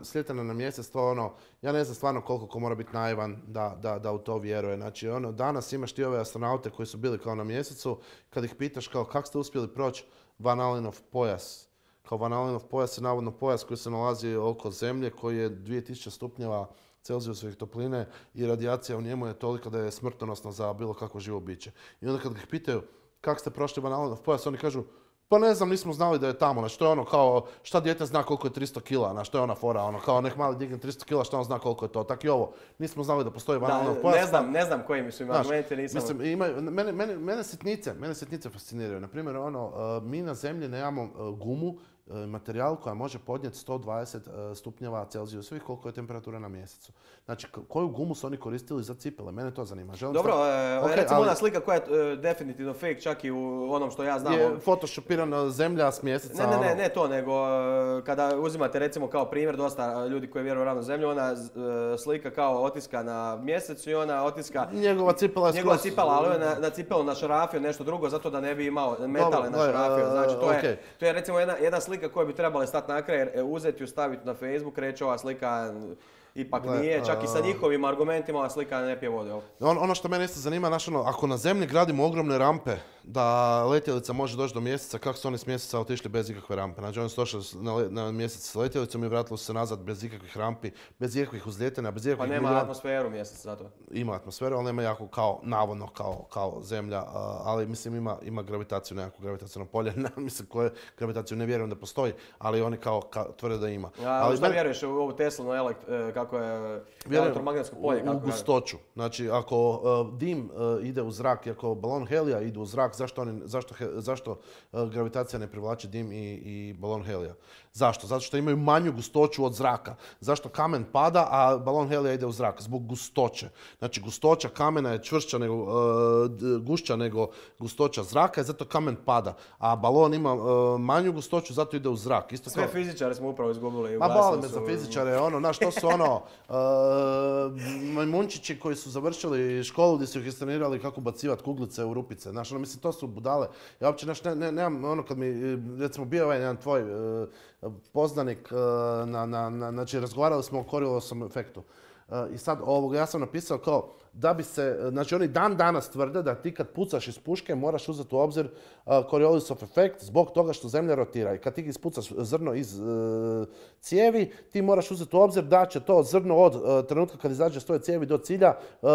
S2: sljetanja na mjesec, to ono, ja ne znam stvarno koliko ko mora biti naivan da, da, da u to vjeruje. Znači, ono, danas imaš ti ove astronaute koji su bili kao na mjesecu, kad ih pitaš kao kako ste uspjeli proći Van Allenov pojas. Kao Van Allenov pojas je navodno pojas koji se nalazi oko Zemlje, koji je dvije tisuće stupnjeva Celzijusovih topline i radijacija u njemu je tolika da je smrtonosna za bilo kakvo živo biće. I onda kad ih pitaju kako ste prošli Van Allenov pojas, oni kažu pa ne znam, nismo znali da je tamo, znači to je ono kao, šta dijete zna koliko je tristo kila, znači to je ona fora, ono kao nek mali digne tristo kila, šta on zna koliko je to, tak i ovo, nismo znali da postoji Van Allenov pojas.
S1: Ne znam, ne znam koji su im argumenti, nisam...
S2: Mislim, imaju, mene, mene, mene sitnice, mene sitnice fasciniraju, na primjer, ono, uh, mi na Zemlji nemamo uh, gumu, materijal koja može podnijeti sto dvadeset stupnjeva Celzijusovih, koliko je temperatura na mjesecu. Znači, koju gumu su oni koristili za cipele? Mene to zanima. Želim
S1: Dobro,
S2: stav...
S1: okay, recimo ali... ona slika koja je uh, definitivno fake, čak i u onom što ja znam.
S2: Je photoshopirana zemlja s mjeseca.
S1: Ne, ne, ne,
S2: ono...
S1: ne to, nego uh, kada uzimate recimo kao primjer dosta ljudi koji vjeruju ravno zemlju, ona uh, slika kao otiska na mjesecu i ona otiska...
S2: Njegova cipela je
S1: Njegova cipela, ali on na, na cipelu našarafio nešto drugo, zato da ne bi imao metale našarafio. Znači, to, okay. je, to je recimo jedna, jedna slika koja bi trebala stati na kraj, uzeti ju, staviti na Facebook, reći ova slika ipak Gle, nije, čak i sa njihovim argumentima ova slika ne pije vode.
S2: On, ono što mene isto zanima, znaš ono, ako na Zemlji gradimo ogromne rampe da letjelica može doći do mjeseca, kako su oni s mjeseca otišli bez ikakve rampe? Znači oni su došli na, na mjesec s letjelicom i vratili su se nazad bez ikakvih rampi, bez ikakvih uzljetanja, bez ikakvih...
S1: Pa nema milijuna... atmosferu mjesec zato.
S2: Ima atmosferu, ali nema jako kao, navodno kao, kao Zemlja, ali mislim ima, ima gravitaciju, nekakvu gravitacijno polje, mislim koje gravitaciju ne vjerujem da postoji, ali oni kao, kao tvrde da ima.
S1: Ja, ali šta men... vjeruješ u ovu Teslinu elekt, kako je elektromagnetsko polje?
S2: U, u gustoću. Znači, ako uh, dim uh, ide u zrak i ako balon helija ide u zrak, zašto, oni, zašto, he, zašto uh, gravitacija ne privlači dim i, i balon helija? Zašto? Zato što imaju manju gustoću od zraka. Zašto kamen pada, a balon helija ide u zrak? Zbog gustoće. Znači, gustoća kamena je čvršća nego, uh, gušća nego gustoća zraka i zato kamen pada. A balon ima uh, manju gustoću, zato ide u zrak. Isto
S1: Sve
S2: kao...
S1: fizičare smo upravo izgubili.
S2: Ma boli me za fizičare, ono, znaš, to su ono, uh, majmunčići koji su završili školu gdje su ih istrenirali kako bacivati kuglice u rupice. Znaš, ono, mislim, to su budale. Ja uopće, znaš, ne, ne, nemam, ono, kad mi, recimo, bio ovaj jedan tvoj uh, poznanik, uh, na, na, na, znači, razgovarali smo o Coriolisovom efektu. Uh, I sad, ovoga, ja sam napisao kao, da bi se, znači oni dan danas tvrde da ti kad pucaš iz puške moraš uzeti u obzir uh, Coriolisov efekt zbog toga što Zemlja rotira. I kad ti ispucaš zrno iz uh, cijevi, ti moraš uzeti u obzir da će to zrno od uh, trenutka kad izađe s toj cijevi do cilja, uh,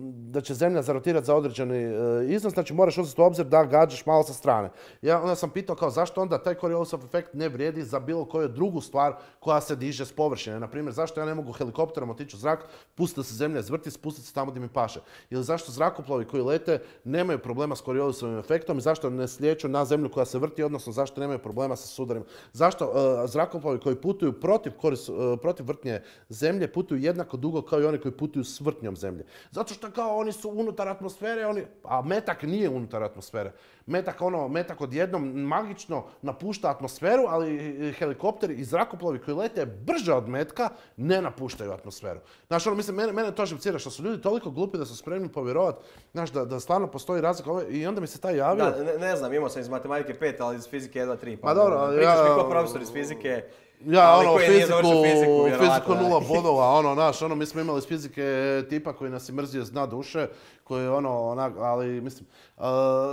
S2: da će Zemlja zarotirati za određeni uh, iznos, znači moraš uzeti u obzir da gađaš malo sa strane. Ja onda sam pitao kao zašto onda taj Coriolisov efekt ne vrijedi za bilo koju drugu stvar koja se diže s površine. Naprimjer, zašto ja ne mogu helikopterom otići u zrak, pustiti da se Zemlja izvrti, spustiti se tamo gdje mi paše. Ili zašto zrakoplovi koji lete nemaju problema s Coriolisovim efektom i zašto ne slijeću na Zemlju koja se vrti, odnosno zašto nemaju problema sa sudarima. Zašto uh, zrakoplovi koji putuju protiv, koris, uh, protiv vrtnje Zemlje putuju jednako dugo kao i oni koji putuju s vrtnjom Zemlje. Zato što kao oni su unutar atmosfere, oni, a metak nije unutar atmosfere. Metak, ono, metak odjednom magično napušta atmosferu, ali helikopteri i zrakoplovi koji lete brže od metka ne napuštaju atmosferu. Znaš, ono, mislim, mene, mene to živcira što su ljudi toliko glupi da su spremni povjerovati, znaš, da, da stvarno postoji razlika. I onda mi se taj javio...
S1: Da, ne, ne znam, imao sam iz matematike pet, ali iz fizike jedna tri. Pa,
S2: pa dobro,
S1: pričaš
S2: ja...
S1: mi kao profesor iz fizike.
S2: Ja, ono, fiziku,
S1: fiziku,
S2: fiziku nula bodova, ono, naš, ono, mi smo imali iz fizike tipa koji nas je mrzio zna duše, koji je ono, onak, ali, mislim, uh,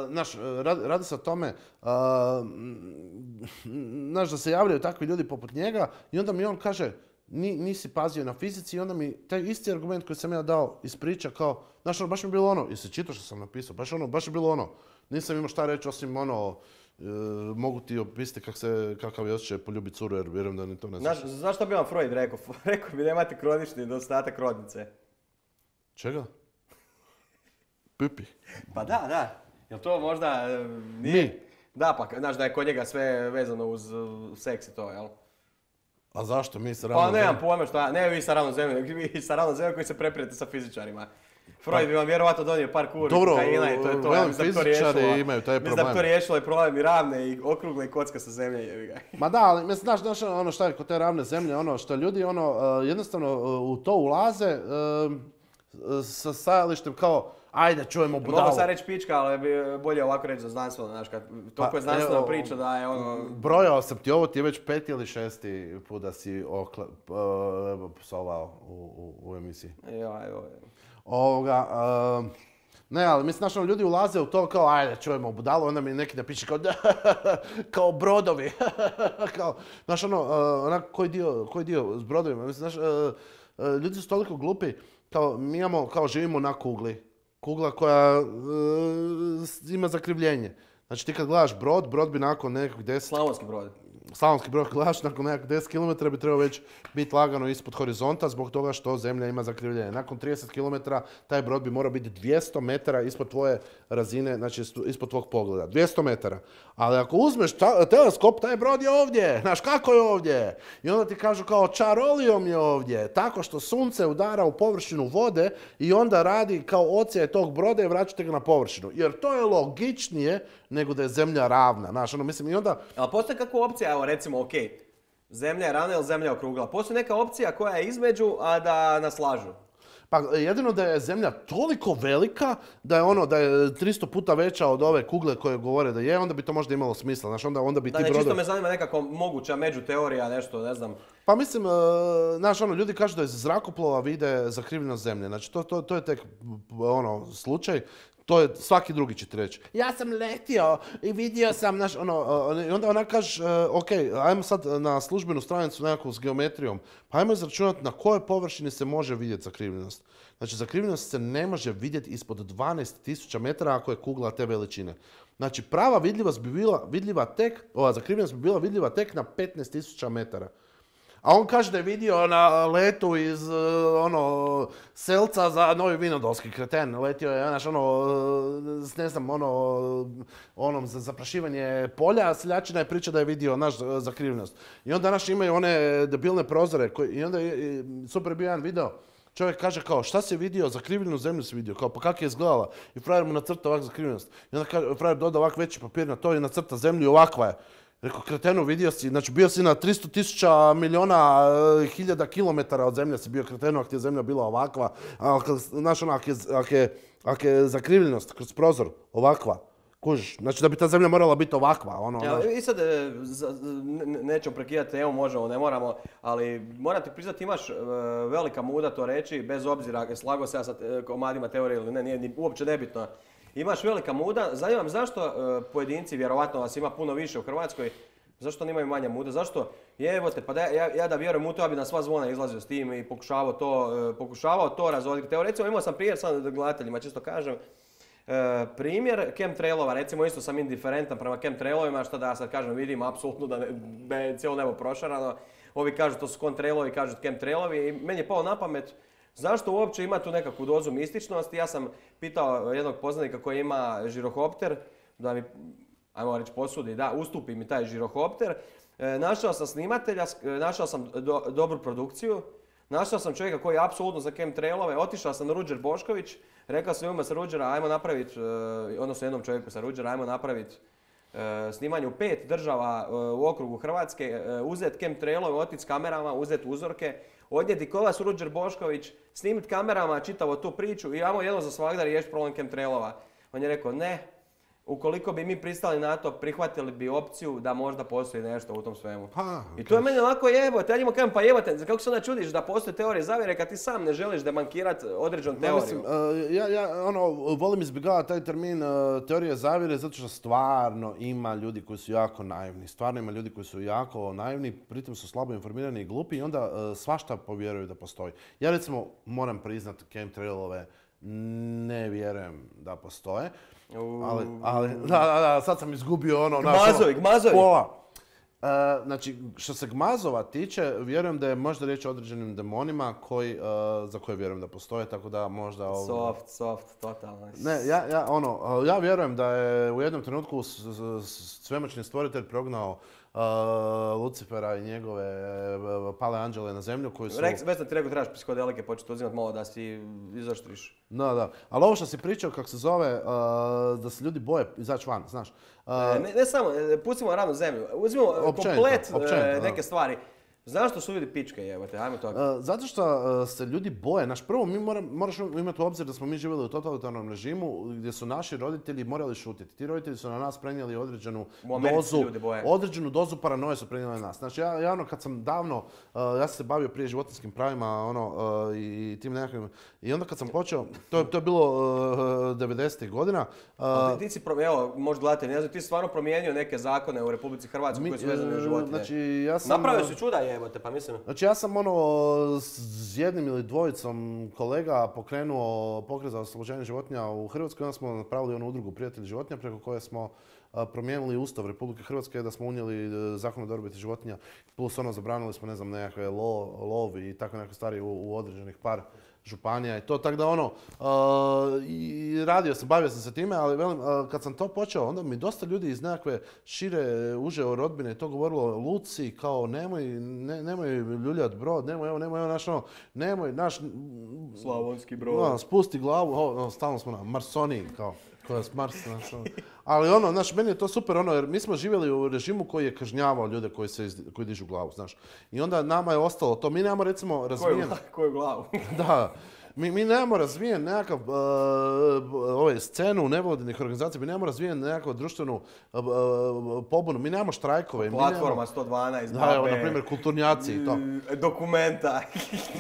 S2: naš, radi, radi se o tome, uh, naš, da se javljaju takvi ljudi poput njega i onda mi on kaže, Ni, nisi pazio na fizici i onda mi taj isti argument koji sam ja dao ispriča kao, znaš, ono, baš mi je bilo ono, jesi čitao što sam napisao, baš ono, baš je bilo ono, nisam imao šta reći osim ono, e, mogu ti opisati kak se, kakav je osjećaj poljubiti curu jer vjerujem da ni to ne znaš.
S1: Znaš, znaš što bi vam Freud rekao? Rekao bi da imate kronični nedostatak rodnice.
S2: Čega? Pipi.
S1: Pa da, da. Jel to možda nije?
S2: Mi.
S1: Da, pa znaš da je kod njega sve vezano uz uh, seks i to, jel?
S2: A zašto mi sa ravnom
S1: Pa
S2: zemljom?
S1: nemam pojma šta, ne vi sa ravnom zemljom, vi sa ravnom zemljom koji se preprijete sa fizičarima. Freud bi vam vjerovatno donio par kuri kokaina i to je to.
S2: Dobro, fizičari imaju taj problem.
S1: Mislim da bi to riješilo i problem i ravne i okrugle i kocka sa zemlje, jebi ga.
S2: Ma da, ali mislim, znaš, znaš ono šta je kod te ravne zemlje, ono što ljudi ono uh, jednostavno uh, u to ulaze uh, uh, sa stajalištem kao ajde čujemo budalu.
S1: Mogu sad reći pička, ali bi bolje ovako reći za znanstveno, znaš, kad toliko je znanstvena priča da je ono...
S2: Brojao sam ti ovo, ti je već peti ili šesti put da si okle, uh, psovao u, u, u emisiji.
S1: Jo, evo.
S2: Ovoga, uh, ne, ali mislim, znaš, ono, ljudi ulaze u to kao, ajde, čujemo budalu, onda mi neki napiše kao, kao brodovi. kao, znaš, ono, uh, onak, koji dio, koji dio s brodovima, mislim, znaš, uh, uh, ljudi su toliko glupi, kao, mi imamo, kao, živimo na kugli. Kugla koja uh, ima zakrivljenje. Znači, ti kad gledaš brod, brod bi nakon nekog deset...
S1: Slavonski brod.
S2: Slavonski brod gledaš, nakon nekakvih deset kilometara bi trebao već biti lagano ispod horizonta zbog toga što zemlja ima zakrivljenje. Nakon trideset kilometara taj brod bi morao biti dvjesto metara ispod tvoje razine, znači ispod tvog pogleda. dvjesto metara. Ali ako uzmeš ta, teleskop, taj brod je ovdje. Znaš kako je ovdje? I onda ti kažu kao čarolijom je ovdje. Tako što sunce udara u površinu vode i onda radi kao ocija tog broda i vraćate ga na površinu. Jer to je logičnije nego da je zemlja ravna. Znaš, ono, mislim, i onda...
S1: Ali postoji kakva opcija, evo recimo, ok, zemlja je ravna ili zemlja je okrugla. Postoji neka opcija koja je između, a da nas lažu.
S2: Pa jedino da je zemlja toliko velika da je ono da je tristo puta veća od ove kugle koje govore da je, onda bi to možda imalo smisla. Znaš, onda, onda bi
S1: da,
S2: ti
S1: ne,
S2: brodovi...
S1: čisto me zanima nekako moguća međuteorija, nešto, ne znam.
S2: Pa mislim, uh, znaš, ono, ljudi kažu da iz zrakoplova vide zakrivljenost zemlje. Znači, to, to, to je tek ono, slučaj. To je, svaki drugi će ti reći. Ja sam letio i vidio sam, znaš, ono, uh, i onda ona kaže, uh, ok, ajmo sad na službenu stranicu nekakvu s geometrijom, pa ajmo izračunati na kojoj površini se može vidjeti zakrivljenost. Znači, zakrivljenost se ne može vidjeti ispod dvanaest tisuća metara ako je kugla te veličine. Znači, prava vidljivost bi bila vidljiva tek, ova zakrivljenost bi bila vidljiva tek na petnaest tisuća metara. A on kaže da je vidio na letu iz, ono, Selca za Novi Vinodolski, kreten. Letio je, znaš, ono, ne znam, ono, onom za zaprašivanje polja, seljačina je priča da je vidio naš zakrivljenost. I onda naš imaju one debilne prozore, koji, i onda je super bio jedan video. Čovjek kaže kao, šta si vidio, zakrivljenu zemlju si vidio, kao, pa kako je izgledala? I frajer mu nacrta ovak zakrivljenost. I onda kaže, frajer doda ovak veći papir na to i nacrta zemlju i ovakva je. Rekao, kretenu, vidio si, znači bio si na tristo tisuća miliona hiljada kilometara od zemlje si bio kretenu, ako ti je zemlja bila ovakva, a znaš ono, ako je, ak je, ak je zakrivljenost kroz prozor ovakva, kužiš, znači da bi ta zemlja morala biti ovakva, ono...
S1: Ja, i sad, za, ne, nećemo prekidati temu, možemo, ne moramo, ali moram ti priznati, imaš uh, velika muda to reći, bez obzira, slago se ja sa komadima teorije ili ne, nije ni, uopće nebitno. Imaš velika muda, zanima me zašto uh, pojedinci, vjerovatno vas ima puno više u Hrvatskoj, zašto oni imaju manje muda, zašto, jevote, pa da ja, ja da vjerujem u to, ja bi na sva zvona izlazio s tim i pokušavao to, uh, pokušavao to razvoditi. Evo recimo imao sam primjer, sam gledateljima čisto kažem, uh, primjer chemtrailova, recimo isto sam indiferentan prema chemtrailovima, što da ja sad kažem vidim apsolutno da, ne, da je cijelo nebo prošarano, ovi kažu to su kontrailovi, kažu chemtrailovi i meni je pao na pamet. Zašto uopće ima tu nekakvu dozu mističnosti? Ja sam pitao jednog poznanika koji ima žirohopter, da mi, ajmo reći, posudi, da, ustupi mi taj žirohopter. E, našao sam snimatelja, našao sam do, dobru produkciju, našao sam čovjeka koji je apsolutno za chemtrailove, otišao sam na Ruđer Bošković, rekao sam ima sa Ruđera, ajmo napraviti, odnosno jednom čovjeku sa Ruđera, ajmo napraviti e, snimanje u pet država e, u okrugu Hrvatske, e, uzeti chemtrailove, otići s kamerama, uzeti uzorke, odnijeti Kolas Ruđer Bošković, snimiti kamerama čitavo tu priču i ajmo jedno za svagda riješiti problem chemtrailova. On je rekao ne, ukoliko bi mi pristali na to, prihvatili bi opciju da možda postoji nešto u tom svemu.
S2: Pa,
S1: I to je meni onako jebote, ja njima kažem pa jebote, kako se onda čudiš da postoje teorije zavjere kad ti sam ne želiš demankirati određenu teoriju?
S2: Mislim, uh, ja, ja ono, volim izbjegavati taj termin uh, teorije zavjere zato što stvarno ima ljudi koji su jako naivni. Stvarno ima ljudi koji su jako naivni, pritom su slabo informirani i glupi i onda uh, svašta povjeruju da postoji. Ja recimo moram priznati chemtrailove, ne vjerujem da postoje. Ali, ali, da, da, da, sad sam izgubio ono...
S1: Gmazovi, gmazovi.
S2: Pola. Uh, znači, što se Gmazova tiče, vjerujem da je možda riječ o određenim demonima koji, uh, za koje vjerujem da postoje, tako da možda... Ovo...
S1: Soft, soft, totalno.
S2: Ne, ja, ja, ono, ja vjerujem da je u jednom trenutku s, s, svemoćni stvoritelj prognao uh, Lucifera i njegove uh, pale anđele na zemlju koji su...
S1: Reks, već sam ti rekao, trebaš psihodelike početi uzimati malo da si izoštriš.
S2: Da, da. Ali ovo što si pričao, kako se zove, uh, da se ljudi boje izaći van, znaš. Uh,
S1: ne, ne samo, pustimo ravnu zemlju, uzmimo komplet
S2: općenito,
S1: neke stvari. Znaš što su ljudi pičke, jebote, ajmo to.
S2: Uh, zato što uh, se ljudi boje. Naš prvo, mi moram, moraš imati u obzir da smo mi živjeli u totalitarnom režimu gdje su naši roditelji morali šutiti. Ti roditelji su na nas prenijeli određenu dozu, određenu dozu paranoje su prenijeli na nas. Znači, ja, ja ono, kad sam davno, uh, ja sam se bavio prije životinjskim pravima, ono, uh, i tim nekakvim, i onda kad sam počeo, to, to je bilo uh, devedesetih godina. Uh,
S1: ti, ti si, evo, možda gledate, ne znam, ti si stvarno promijenio neke zakone u Republici Hrvatskoj koji su vezane na životinje.
S2: Znači, ja sam...
S1: Napravio si čuda, je. Pa mislim.
S2: Znači ja sam ono s jednim ili dvojicom kolega pokrenuo pokret za oslobođenje životinja u Hrvatskoj, onda smo napravili onu udrugu Prijatelji životinja preko koje smo promijenili Ustav Republike Hrvatske da smo unijeli zakon o dobrobiti životinja, plus ono zabranili smo ne znam nekakve lo, lov i tako neke stvari u, u određenih par županija i to, tako da ono, uh, i radio sam, bavio sam se time, ali velim, uh, kad sam to počeo, onda mi dosta ljudi iz nekakve šire, uže rodbine to govorilo, Luci, kao nemoj, ne, nemoj ljuljat brod, nemoj, evo, nemoj, evo, naš, ono, nemoj, naš...
S1: Slavonski brod.
S2: No, spusti glavu, o, o, stalno smo na Marsoniji, kao. Koja s Marsa, znaš, ono. Ali ono, znaš, meni je to super, ono, jer mi smo živjeli u režimu koji je kažnjavao ljude koji, se, koji dižu glavu, znaš. I onda nama je ostalo to, mi nemamo recimo razvijen...
S1: Koju, koju glavu?
S2: Da, mi, mi nemamo razvijen nekakav, uh, ovaj, scenu nevladinih organizacija, mi nemamo razvijen nekakvu društvenu uh, pobunu, mi nemamo štrajkove.
S1: Platforma
S2: nemamo,
S1: sto dvanaest,
S2: da, evo, na primjer, kulturnjaci i to.
S1: Dokumenta.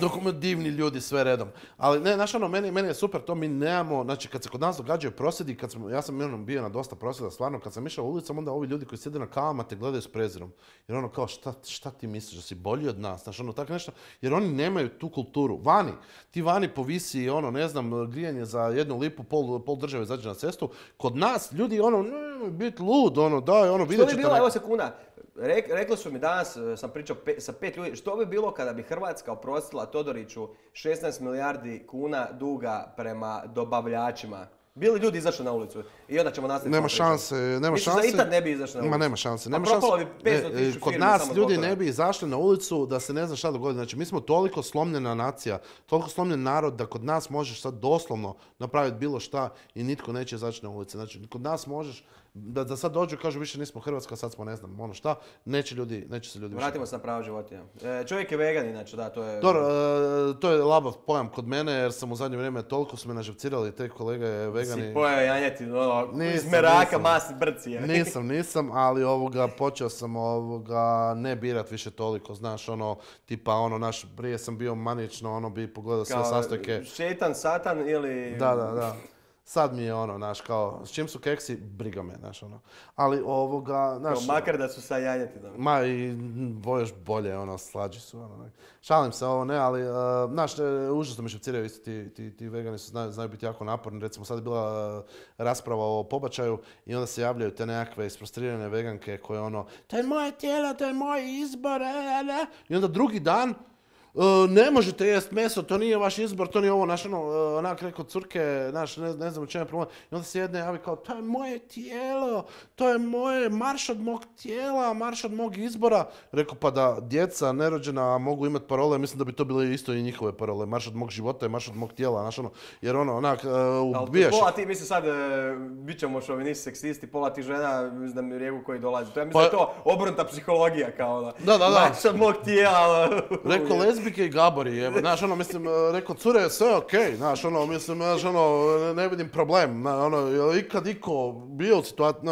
S2: Dokument, divni ljudi, sve redom. Ali ne, znaš ono, meni, meni je super to, mi nemamo, znači kad se kod nas događaju prosvjedi, kad sam, ja sam ono, bio na dosta prosvjeda, stvarno, kad sam išao ulicom, onda ovi ljudi koji sjede na kavama te gledaju s prezirom. Jer ono kao, šta, šta ti misliš, da si bolji od nas, znaš ono, tako nešto, jer oni nemaju tu kulturu. Vani, ti vani povisi, ono, ne znam, grijanje za jednu lipu, pol, pol države izađe na cestu. Kod nas, ljudi, ono, bit lud, ono, daj, ono, vidjet ćete...
S1: Što bi bilo, evo sekunda, Rek, rekli su mi danas, sam pričao pe, sa pet ljudi, što bi bilo kada bi Hrvatska oprostila Todoriću šesnaest milijardi kuna duga prema dobavljačima? Bili ljudi izašli na ulicu i onda ćemo nastaviti.
S2: Nema šanse, nema
S1: Misliš
S2: šanse.
S1: da ikad ne bi izašli na ulicu?
S2: Ma nema šanse, nema
S1: pa
S2: šanse.
S1: Bi petsto tisuća
S2: Kod nas ljudi ne bi izašli na ulicu da se ne zna šta dogodi. Znači mi smo toliko slomljena nacija, toliko slomljen narod da kod nas možeš sad doslovno napraviti bilo šta i nitko neće izaći na ulice. Znači kod nas možeš da, da sad dođu i kažu više nismo Hrvatska, sad smo ne znam ono šta, neće ljudi, neće se ljudi više.
S1: Vratimo se na pravo životinja. E, čovjek je vegan inače, da, to je...
S2: Dobro, e, to je labav pojam kod mene jer sam u zadnje vrijeme toliko su me naživcirali te kolege vegani.
S1: Si pojao janjetin, ono, iz meraka, masi, brci. Je.
S2: Nisam, nisam, ali ovoga, počeo sam ovoga ne birat više toliko, znaš, ono, tipa, ono, naš, prije sam bio manično, ono, bi pogledao sve sastojke.
S1: Šetan, satan ili...
S2: Da, da, da. Sad mi je ono, znaš, kao, s čim su keksi, briga me, znaš, ono. Ali ovoga, znaš...
S1: Kao makar da su sa janjetinom.
S2: Ma i još bolje, ono, slađi su, ono. Šalim se, ovo ne, ali, uh, znaš, užasno mi šepciraju isto ti, ti, ti vegani su, znaju, znaju biti jako naporni. Recimo, sad je bila uh, rasprava o pobačaju i onda se javljaju te nekakve isprostrirane veganke koje ono, to je moje tijelo, to je moj izbor, ne. I onda drugi dan, Uh, ne možete jest meso, to nije vaš izbor, to nije ovo, naš ono, uh, onak rekao curke, naš, ne, ne znam u čemu je problem. I onda se jedne javi kao, to je moje tijelo, to je moje, marš od mog tijela, marš od mog izbora. Rekao, pa da djeca nerođena mogu imati parole, mislim da bi to bile isto i njihove parole. Marš od mog života i marš od mog tijela, naš ono, jer ono, onak, uh, ubijaš.
S1: Pola ti, mislim sad, uh, bit ćemo šovinisti, seksisti, pola ti žena, mislim da mi rijeku koji dolazi. To je, mislim, pa, to obrnuta psihologija, kao da.
S2: Da, da, da.
S1: Marš od mog tijela.
S2: Rekao, lezbike i gabori, jebe, znaš, ono, mislim, rekao, cure, sve okej, okay, znaš, ono, mislim, znaš, ono, ne vidim problem, ono, je ikad iko bio u situaciji,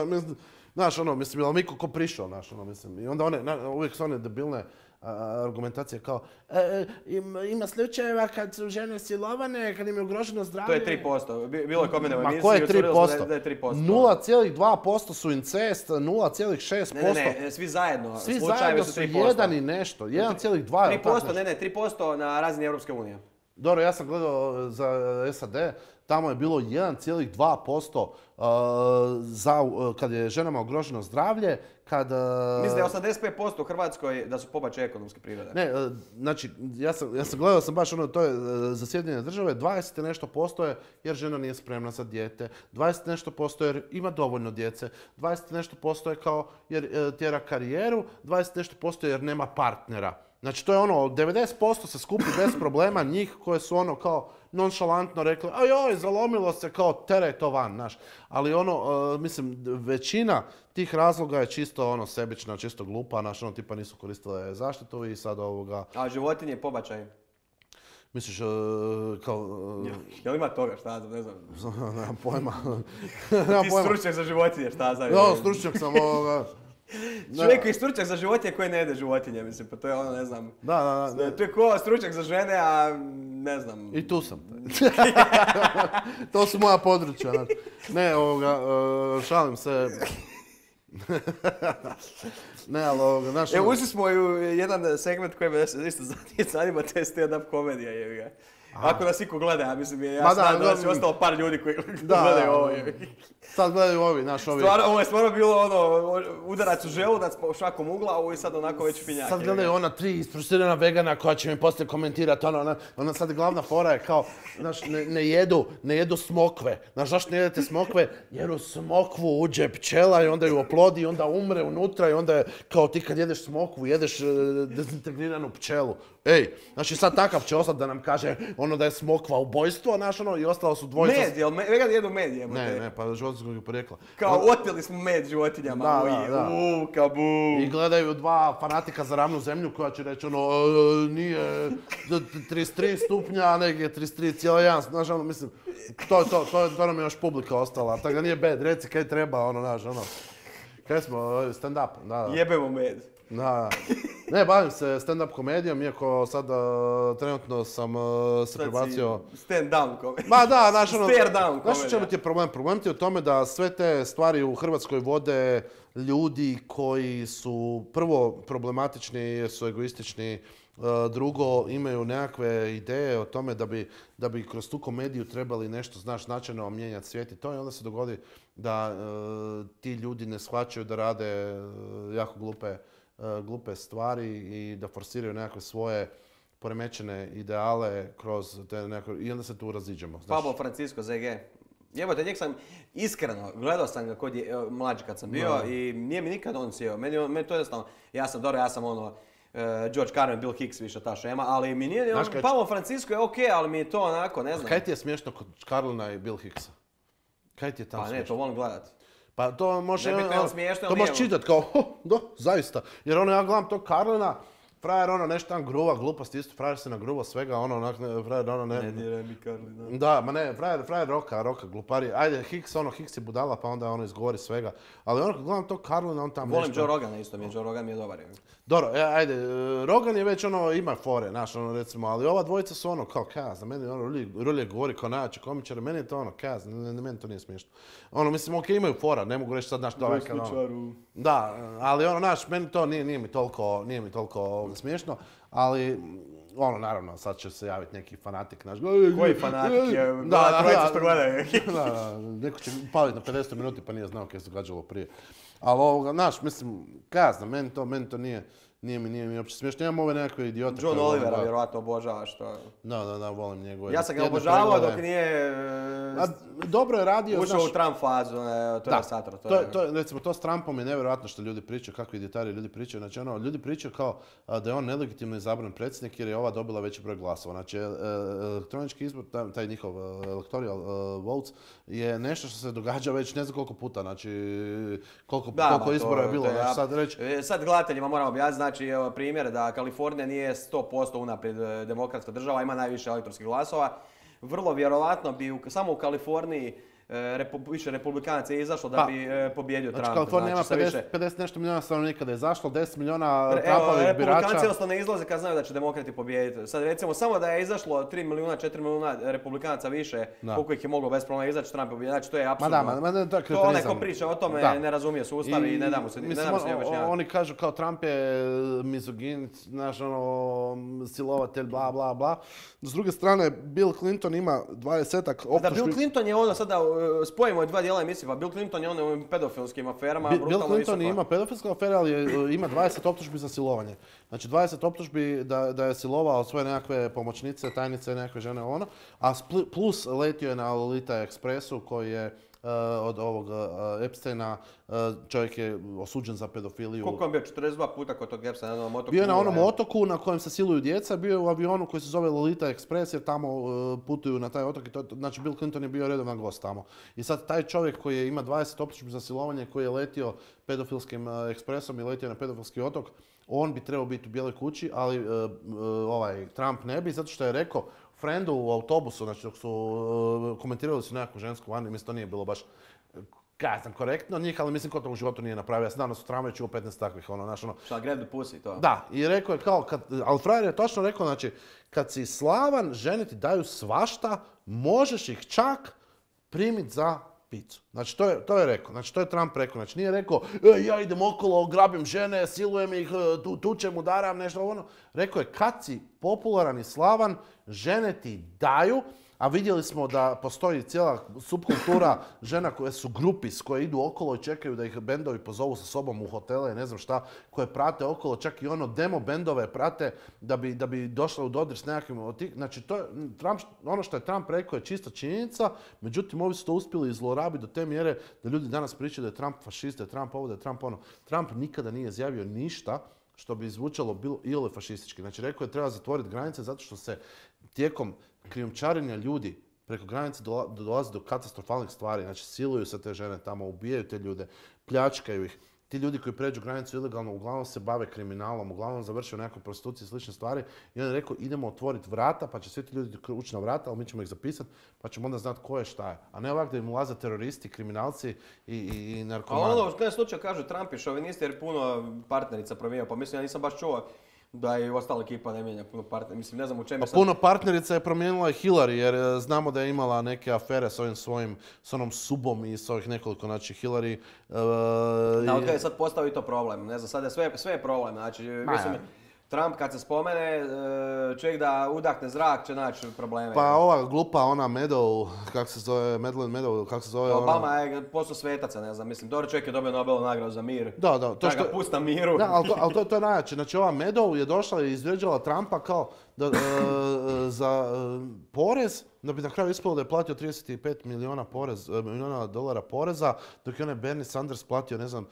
S2: znaš, ono, mislim, je li mi ko prišao, znaš, ono, mislim, i onda one, na, uvijek su one debilne a, argumentacije kao, e, ima, ima slučajeva kad su žene silovane, kad im je ugroženo zdravlje.
S1: To je tri posto, bilo je kod mene u emisiji.
S2: Ma ko je tri posto?
S1: Da je tri posto.
S2: nula zarez dva posto su incest, nula zarez šest posto.
S1: Ne, ne, ne, svi zajedno.
S2: Svi zajedno su jedan i nešto, jedan zarez dva posto.
S1: tri posto, ne, ne, tri posto na razini Europske unije.
S2: Dobro, ja sam gledao za S A D, tamo je bilo jedan zarez dva posto za, kad je ženama ugroženo zdravlje, kad...
S1: Mislim da je osamdeset pet posto u Hrvatskoj da su pobačaji ekonomske prirode.
S2: Ne, znači, ja sam, ja sam gledao sam baš ono, to je za Sjedinjene države, dvadeset nešto posto je jer žena nije spremna za dijete, dvadeset nešto posto jer ima dovoljno djece, dvadeset nešto posto je kao jer tjera karijeru, dvadeset nešto posto jer nema partnera. Znači to je ono, devedeset posto se skupi bez problema njih koje su ono kao nonšalantno rekli, a joj, zalomilo se, kao teraj to van, znaš. Ali ono, uh, mislim, većina tih razloga je čisto ono sebična, čisto glupa, znaš, ono tipa nisu koristile zaštitu i sad ovoga...
S1: A životinje i pobačaj?
S2: Misliš, uh, kao... Uh...
S1: Jel ima toga, šta znam, ne znam.
S2: Nemam pojma.
S1: Ti stručnjak za životinje, šta znam.
S2: No, stručnjak sam ovoga...
S1: Čovjek koji je stručnjak za životinje koji ne jede životinje, mislim, pa to je ono, ne znam.
S2: Da, da, da.
S1: To je ko stručnjak za žene, a ne znam.
S2: I tu sam. To su moja područja. Znači. Ne, ovoga, uh, šalim se. Ne, ali ovoga, znaš...
S1: Evo, ušli smo u jedan segment koji me isto zanima, to je stand-up komedija, jevi ga. Ako nas iko gleda, ja mislim, ja znam da nas je ostalo par ljudi koji gledaju ovo.
S2: Sad gledaju ovi, naš ovi.
S1: Stvarno, ovo je stvarno bilo ono, udarac u želudac po šakom ugla, ovo je sad onako već finjak.
S2: Sad gledaju ona tri isprusirana vegana koja će mi poslije komentirati, ono, ona, ona sad glavna fora je kao, znaš, ne, ne jedu, ne jedu smokve. Znaš, zašto ne jedete smokve? Jer u smokvu uđe pčela i onda ju oplodi i onda umre unutra i onda je, kao ti kad jedeš smokvu, jedeš uh, dezintegriranu pčelu. Ej, znači sad takav će ostati da nam kaže ono da je smokva ubojstvo, znaš ono, i ostalo su dvojica...
S1: Med, jel vegan jedu med jebote?
S2: Ne, ne, pa životinskog porijekla.
S1: Kao oteli smo med životinjama,
S2: da, da, da.
S1: Uuu, kabu.
S2: I gledaju dva fanatika za ravnu zemlju koja će reći ono, nije trideset tri stupnja, nego trideset tri zarez jedan, znaš ono, mislim, to je to, to, to nam je još publika ostala, tako da nije bed, reci kaj treba, ono, znaš, ono, kaj smo, stand-up, da, da.
S1: Jebemo med.
S2: Da, ne, bavim se stand-up komedijom, iako sad uh, trenutno sam uh, se prebacio...
S1: Stand-down komedija.
S2: Ma da, znaš ono...
S1: Stare-down komedija.
S2: Znaš u čemu ti je problem? Problem ti je u tome da sve te stvari u Hrvatskoj vode ljudi koji su prvo problematični jer su egoistični, uh, drugo imaju nekakve ideje o tome da bi, da bi kroz tu komediju trebali nešto, znaš, značajno mijenjati svijet i to i onda se dogodi da uh, ti ljudi ne shvaćaju da rade uh, jako glupe glupe stvari i da forsiraju nekakve svoje poremećene ideale kroz te nekakve... I onda se tu raziđemo.
S1: Pablo Francisco, Z G. Jebote, njeg sam iskreno, gledao sam ga kod je, mlađi kad sam bio no. I nije mi nikad on sjeo. Meni, meni to jednostavno, ja sam dobro, ja sam ono, uh, George Carlin, Bill Hicks, više ta šema, ali mi nije, on, kaj... Pablo Francisco je okej, okay, ali mi je to onako, ne znam.
S2: Kaj ti je smiješno kod Carlina i Bill Hicksa? Kaj ti je tamo
S1: pa
S2: smiješno?
S1: Ne, to volim gledat.
S2: Pa to može,
S1: on, smiješno,
S2: to možeš čitati kao, ho, do, zaista. Jer ono, ja gledam tog Carlina, frajer ono nešto tam gruva, gluposti isto, frajer se nagruva svega, ono, onak, frajer ono ne...
S1: Ne diraj mi Carlina.
S2: Da, ma ne, frajer, frajer roka, roka, glupari. Ajde, Hicks, ono, Hicks je budala, pa onda ono izgovori svega. Ali ono, kad gledam tog Carlina, on tam
S1: volim
S2: nešto...
S1: Joe Rogana isto mi je, Joe Rogan mi je dobar.
S2: Dobro, ajde, Rogan je već ono, ima fore, znaš, ono, recimo, ali ova dvojica su ono, kao, kaz, za meni, ono, Rulje govori kao najjači komičar, meni je to ono, kaz, ne, ne, meni to nije smiješno. Ono, mislim, okej, okay, imaju fora, ne mogu reći sad, znaš, to ovaj kad ono... Da, ali ono, znaš, meni to nije, nije mi toliko, nije mi toliko smiješno, ali... Ono, naravno, sad će se javiti neki fanatik naš.
S1: Koji fanatik je? Da, da, trojica što gledaju.
S2: Da, da, neko će paliti na pedeset minuti pa nije znao kaj se događalo prije. Ali ovoga, znaš, mislim, kazna, meni to, meni to nije, nije mi, nije mi uopće smiješno. Imam ove nekakve idiote.
S1: John Olivera vjerovatno obožavaš to.
S2: Da, da, da, volim njegove.
S1: Ja sam ga obožavao dok nije...
S2: A, dobro je radio,
S1: ušao u Trump fazu, ne, to
S2: da,
S1: je satro.
S2: To, to, je, to, recimo, to s Trumpom je nevjerojatno što ljudi pričaju, kakvi idiotariji ljudi pričaju. Znači, ono, ljudi pričaju kao a, da je on nelegitimno izabran predsjednik jer je ova dobila veći broj glasova. Znači, elektronički izbor, taj, taj njihov electoral uh, votes, je nešto što se događa već ne znam koliko puta. Znači, koliko,
S1: da,
S2: koliko
S1: ba,
S2: izbora
S1: to,
S2: je bilo.
S1: To je,
S2: znači, sad, reći...
S1: sad gledateljima moram objasniti, znači, evo, primjer da Kalifornija nije sto posto unaprijed demokratska država, ima najviše elektorskih glasova. Vrlo vjerovatno bi u, samo u Kaliforniji repu, više republikanaca je izašlo da bi pa, pobjedio
S2: znači,
S1: Trumpa.
S2: Kalifornija
S1: Znači,
S2: ima pedeset,
S1: više...
S2: pedeset nešto milijuna stanovnika da je izašlo, deset milijuna
S1: Evo,
S2: Trumpovih birača.
S1: republikanci jednostavno ne izlaze kad znaju da će demokrati pobijediti. Sad recimo samo da je izašlo tri milijuna, četiri milijuna republikanaca više, da. Koliko ih je moglo bez problema izaći, Trump je znači to je apsurdno.
S2: Ma da, ma, ma, to je
S1: to onaj ko priča o tome da. Ne razumije sustav i, i ne da mu se ne da mu se objašnjavati.
S2: Oni kažu kao Trump je mizogin, znaš ono, silovatelj, bla bla bla. S druge strane, Bill Clinton ima dvadesetak optužbi.
S1: Da, Bill Clinton je ono sada, spojimo dva dijela emisije, pa Bill Clinton je ono u pedofilskim aferama,
S2: Bill,
S1: brutalno
S2: Bill Clinton
S1: visoko.
S2: ima pedofilske afere, ali je, ima dvadeset optužbi za silovanje. Znači dvadeset optužbi da, da je silovao svoje nekakve pomoćnice, tajnice, nekakve žene ono, a plus letio je na Lolita Expressu koji je uh, od ovog uh, Epsteina, uh, čovjek je osuđen za pedofiliju.
S1: Koliko on bio? četrdeset dva puta kod tog Epsteina na onom otoku?
S2: Bio je na onom otoku na kojem se siluju djeca, bio je u avionu koji se zove Lolita Express jer tamo uh, putuju na taj otok i to, znači Bill Clinton je bio redovan gost tamo. I sad taj čovjek koji ima dvadeset optužbi za silovanje, koji je letio pedofilskim uh, ekspresom i letio na pedofilski otok, on bi trebao biti u Bijeloj kući, ali uh, uh, ovaj Trump ne bi, zato što je rekao friendu u autobusu, znači dok su uh, komentirali su nekakvu žensku vani, mislim to nije bilo baš kaj sam korektno od njih, ali mislim ko to u životu nije napravio. Ja sam danas u tramvaju čuo petnaest takvih, ono, znaš, ono.
S1: Šta, grab the pussy, to?
S2: Da, i rekao je kao, kad, ali frajer je točno rekao, znači, kad si slavan, žene ti daju svašta, možeš ih čak primiti za picu. Znači, to je, to je rekao, znači, to je Trump rekao, znači, nije rekao, e, ja idem okolo, grabim žene, silujem ih, tu, tučem, udaram, nešto ono. Rekao je, kad si popularan i slavan, žene ti daju, a vidjeli smo da postoji cijela subkultura žena koje su grupis, koje idu okolo i čekaju da ih bendovi pozovu sa sobom u hotele i ne znam šta, koje prate okolo, čak i ono demo bendove prate da bi, da bi došla u dodir s nekakvim od tih. Znači, to je, Trump, ono što je Trump rekao je čista činjenica, međutim, ovi su to uspjeli zlorabiti do te mjere da ljudi danas pričaju da je Trump fašist, da je Trump ovo, da je Trump ono. Trump nikada nije izjavio ništa što bi zvučalo bilo iole fašistički. Znači, rekao je treba zatvoriti granice zato što se tijekom krijumčarenja ljudi preko granice dolazi do katastrofalnih stvari. Znači, siluju se te žene tamo, ubijaju te ljude, pljačkaju ih. Ti ljudi koji pređu granicu ilegalno uglavnom se bave kriminalom, uglavnom završaju nekoj prostituciji i slične stvari. I on je rekao idemo otvoriti vrata, pa će svi ti ljudi ući na vrata, ali mi ćemo ih zapisati, pa ćemo onda znati ko je šta je. A ne ovako da im ulaze teroristi, kriminalci i, i, i narkomani.
S1: A ono, u kojem slučaju kažu Trump je šovinist jer puno partnerica promijenio, pa mislim ja nisam baš čuo da i ostala ekipa ne mijenja puno partnerica. Mislim, ne znam u čemu je sad...
S2: Puno partnerica je promijenila i Hillary, jer znamo da je imala neke afere s ovim svojim, s onom subom i s ovih nekoliko, znači Hillary... Uh,
S1: da, od kada je sad postao i to problem, ne znam, sad je sve, sve je problem, znači, mislim, Trump kad se spomene, čovjek da udahne zrak će naći probleme.
S2: Pa ova glupa, ona Meadow, kako se zove, Madeleine Meadow, kako se zove ona...
S1: Obama je postao svetaca, ne znam, mislim, dobro čovjek je dobio Nobelovu nagradu za mir.
S2: Da, da.
S1: To što... ga pusti na miru.
S2: Da, ali to, ali to, to je najjače. Znači ova Meadow je došla i izvrijeđala Trumpa kao da, uh, za uh, porez, da bi na kraju ispalo da je platio trideset pet milijuna, porez, milijuna dolara poreza, dok je onaj Bernie Sanders platio, ne znam,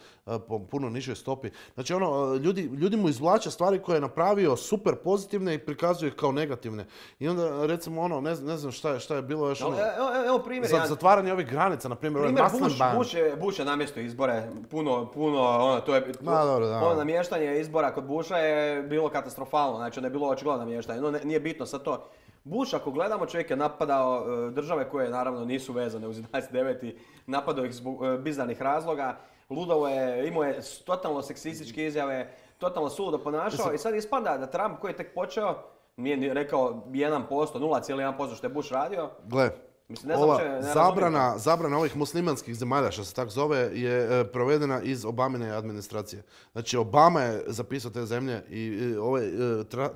S2: po puno nižoj stopi. Znači ono, ljudi, ljudi mu izvlače stvari koje je napravio super pozitivne i prikazuju ih kao negativne. I onda recimo ono, ne, ne znam šta je, šta je bilo još ono,
S1: evo, evo primjer,
S2: za,
S1: ja...
S2: zatvaranje ovih granica, na primjer,
S1: primjer Bush, Bush, je, Bush je namjesto izbore, puno, puno, ono, to je,
S2: Ma, dobro, da.
S1: ono namještanje izbora kod Busha je bilo katastrofalno, znači onda je bilo očigledno namještanje, no ne, nije bitno sad to. Bush, ako gledamo, čovjek je napadao uh, države koje naravno nisu vezane uz jedanaest deveti, napadao ih zbog uh, bizarnih razloga, ludovo je, imao je totalno seksističke izjave, totalno suludo ponašao i sad ispada da Trump koji je tek počeo, nije rekao jedan posto, nula zarez jedan posto što je Bush radio.
S2: Gle,
S1: mislim, ne znam
S2: ova
S1: če, ne
S2: zabrana, zabrana ovih muslimanskih zemalja, što se tako zove, je e, provedena iz Obamine administracije. Znači, Obama je zapisao te zemlje i, i ovaj, e,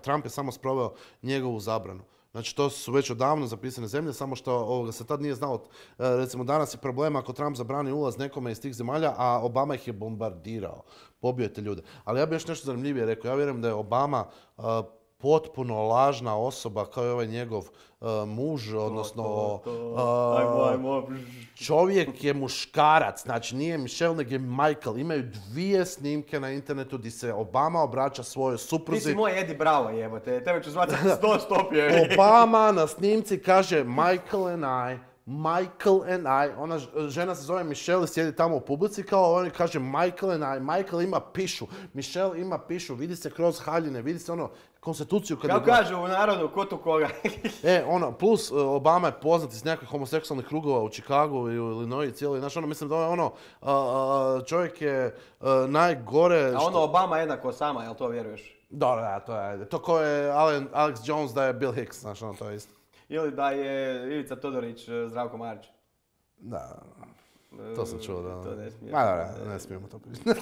S2: Trump je samo sproveo njegovu zabranu. Znači, to su već odavno zapisane zemlje, samo što ovoga se tad nije znalo. E, recimo, danas je problem ako Trump zabrani ulaz nekome iz tih zemalja, a Obama ih je bombardirao, pobio je te ljude. Ali ja bih još nešto zanimljivije rekao. Ja vjerujem da je Obama uh, potpuno lažna osoba kao i ovaj njegov uh, muž, odnosno
S1: to, to, to. Uh, ajmo, ajmo.
S2: Čovjek je muškarac, znači nije Michelle nego je Michael. Imaju dvije snimke na internetu gdje se Obama obraća svojoj supruzi.
S1: Ti si moj Eddie Bravo jebote, tebe ću zvati sto stopje.
S2: Obama na snimci kaže Michael and I Michael and I, ona žena se zove Michelle i sjedi tamo u publici kao oni kaže Michael and I, Michael ima pišu, Michelle ima pišu, vidi se kroz haljine, vidi se ono konstituciju kad
S1: Kako kažu u narodu, ko tu koga.
S2: E, ono, plus Obama je poznat iz nekakvih homoseksualnih krugova u Chicagu i u Illinois cijeli, znaš, ono, mislim da je ono, uh, čovjek je uh, najgore...
S1: A ono, što... Obama jednako sama, jel to vjeruješ?
S2: Da, da, to je, to ko je Alex Jones da je Bill Hicks, znaš, ono, to je isto.
S1: Ili da je Ivica Todorić Zdravko Marić.
S2: Da, to sam čuo, da.
S1: To ne smijemo.
S2: Ma, da, da, ne smijemo to pričati.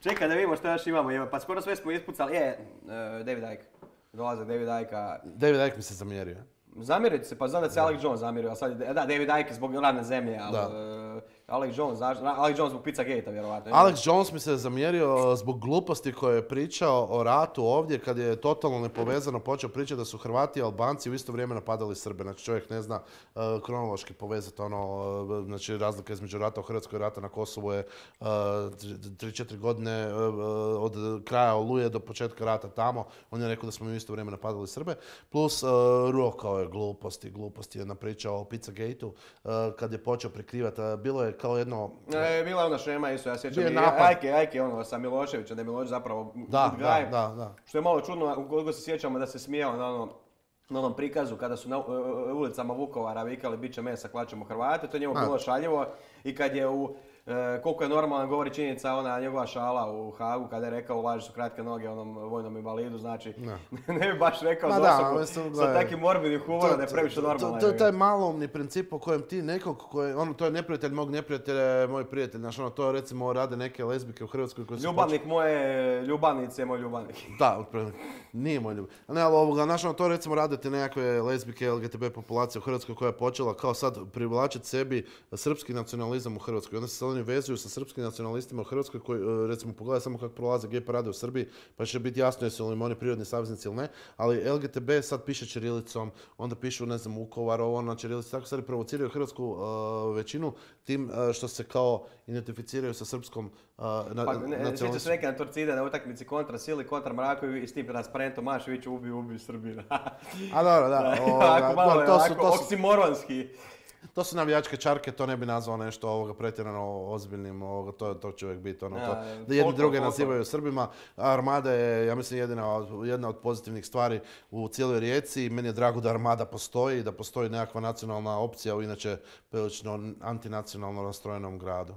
S1: Čekaj da vidimo što još imamo, pa skoro sve smo ispucali. Je, uh, David Icke. Dolazak David Icke.
S2: David Icke mi se zamjerio.
S1: Zamjeriti se, pa znam da se Alex Jones zamjerio, a sad, da, David Icke zbog radne zemlje, ali uh, Alex Jones, Alex Jones zbog Pizzagate-a vjerovatno.
S2: Alex Jones mi se zamjerio zbog gluposti koje je pričao o ratu ovdje, kad je totalno nepovezano počeo pričati da su Hrvati i Albanci u isto vrijeme napadali Srbe. Znači čovjek ne zna uh, kronološki povezati ono, uh, znači razlika između rata u Hrvatskoj i rata na Kosovu je tri četiri godine uh, od kraja Oluje do početka rata tamo. On je rekao da smo u isto vrijeme napadali Srbe. Plus uh, rokao je gluposti, gluposti je napričao o Pizzagate-u uh, kad je počeo prikrivati. Uh, bilo je kao jedno...
S1: E, bila je ona šema isto, ja sjećam i Ajke, Ajke ono sa Miloševićem, da je Milošević zapravo
S2: da, da, da, da.
S1: Što je malo čudno, ukoliko se sjećamo da se smijao na ono, na onom prikazu kada su na ulicama Vukovara vikali bit će mesa, klačemo Hrvate, to je njemu bilo šaljivo i kad je u E, koliko je normalno govori činjenica ona njegova šala u Hagu kada je rekao laži su kratke noge onom vojnom invalidu, znači ne, ne bi baš rekao dosoku sa takim morbidnim humorom da je previše normalno.
S2: To je taj maloumni princip po kojem ti nekog, koje, ono, to je neprijatelj mog neprijatelja, je moj prijatelj, znaš ono, to recimo rade neke lezbike u Hrvatskoj koje su...
S1: Ljubavnik poč... moje ljubavnice je moj ljubavnik.
S2: Da, nije moj ljubavnik. Ne, ali ovoga, znaš ono, to recimo radite nekakve lezbike L G B T populacije u Hrvatskoj koja je počela kao sad privlačiti sebi srpski nacionalizam u Hrvatskoj. Onda se oni vezuju sa srpskim nacionalistima u Hrvatskoj koji, recimo, pogledaj samo kako prolaze gej parade u Srbiji, pa će biti jasno jesu li oni prirodni saveznici ili ne, ali L G B T sad piše ćirilicom, onda pišu, ne znam, Vukovar, ovo na ćirilici, tako sad provociraju hrvatsku uh, većinu tim uh, što se kao identificiraju sa srpskom uh, na,
S1: pa, ne, sjeća se neke na Torcide na utakmici kontra Sili, kontra Mrakovi i s tim transparentom Maševiću ubiju, ubiju Srbiju.
S2: A dobro, da. O,
S1: ovako malo je,
S2: to
S1: ovako
S2: su, to su,
S1: oksimoronski.
S2: To su navijačke čarke, to ne bi nazvao nešto ovoga pretjerano ozbiljnim, ovoga, to, to će uvijek biti ono, to, ja, da jedni druge nazivaju Srbima. Armada je, ja mislim, jedina, jedna od pozitivnih stvari u cijeloj Rijeci. Meni je drago da Armada postoji, da postoji nekakva nacionalna opcija u inače prilično antinacionalno rastrojenom gradu.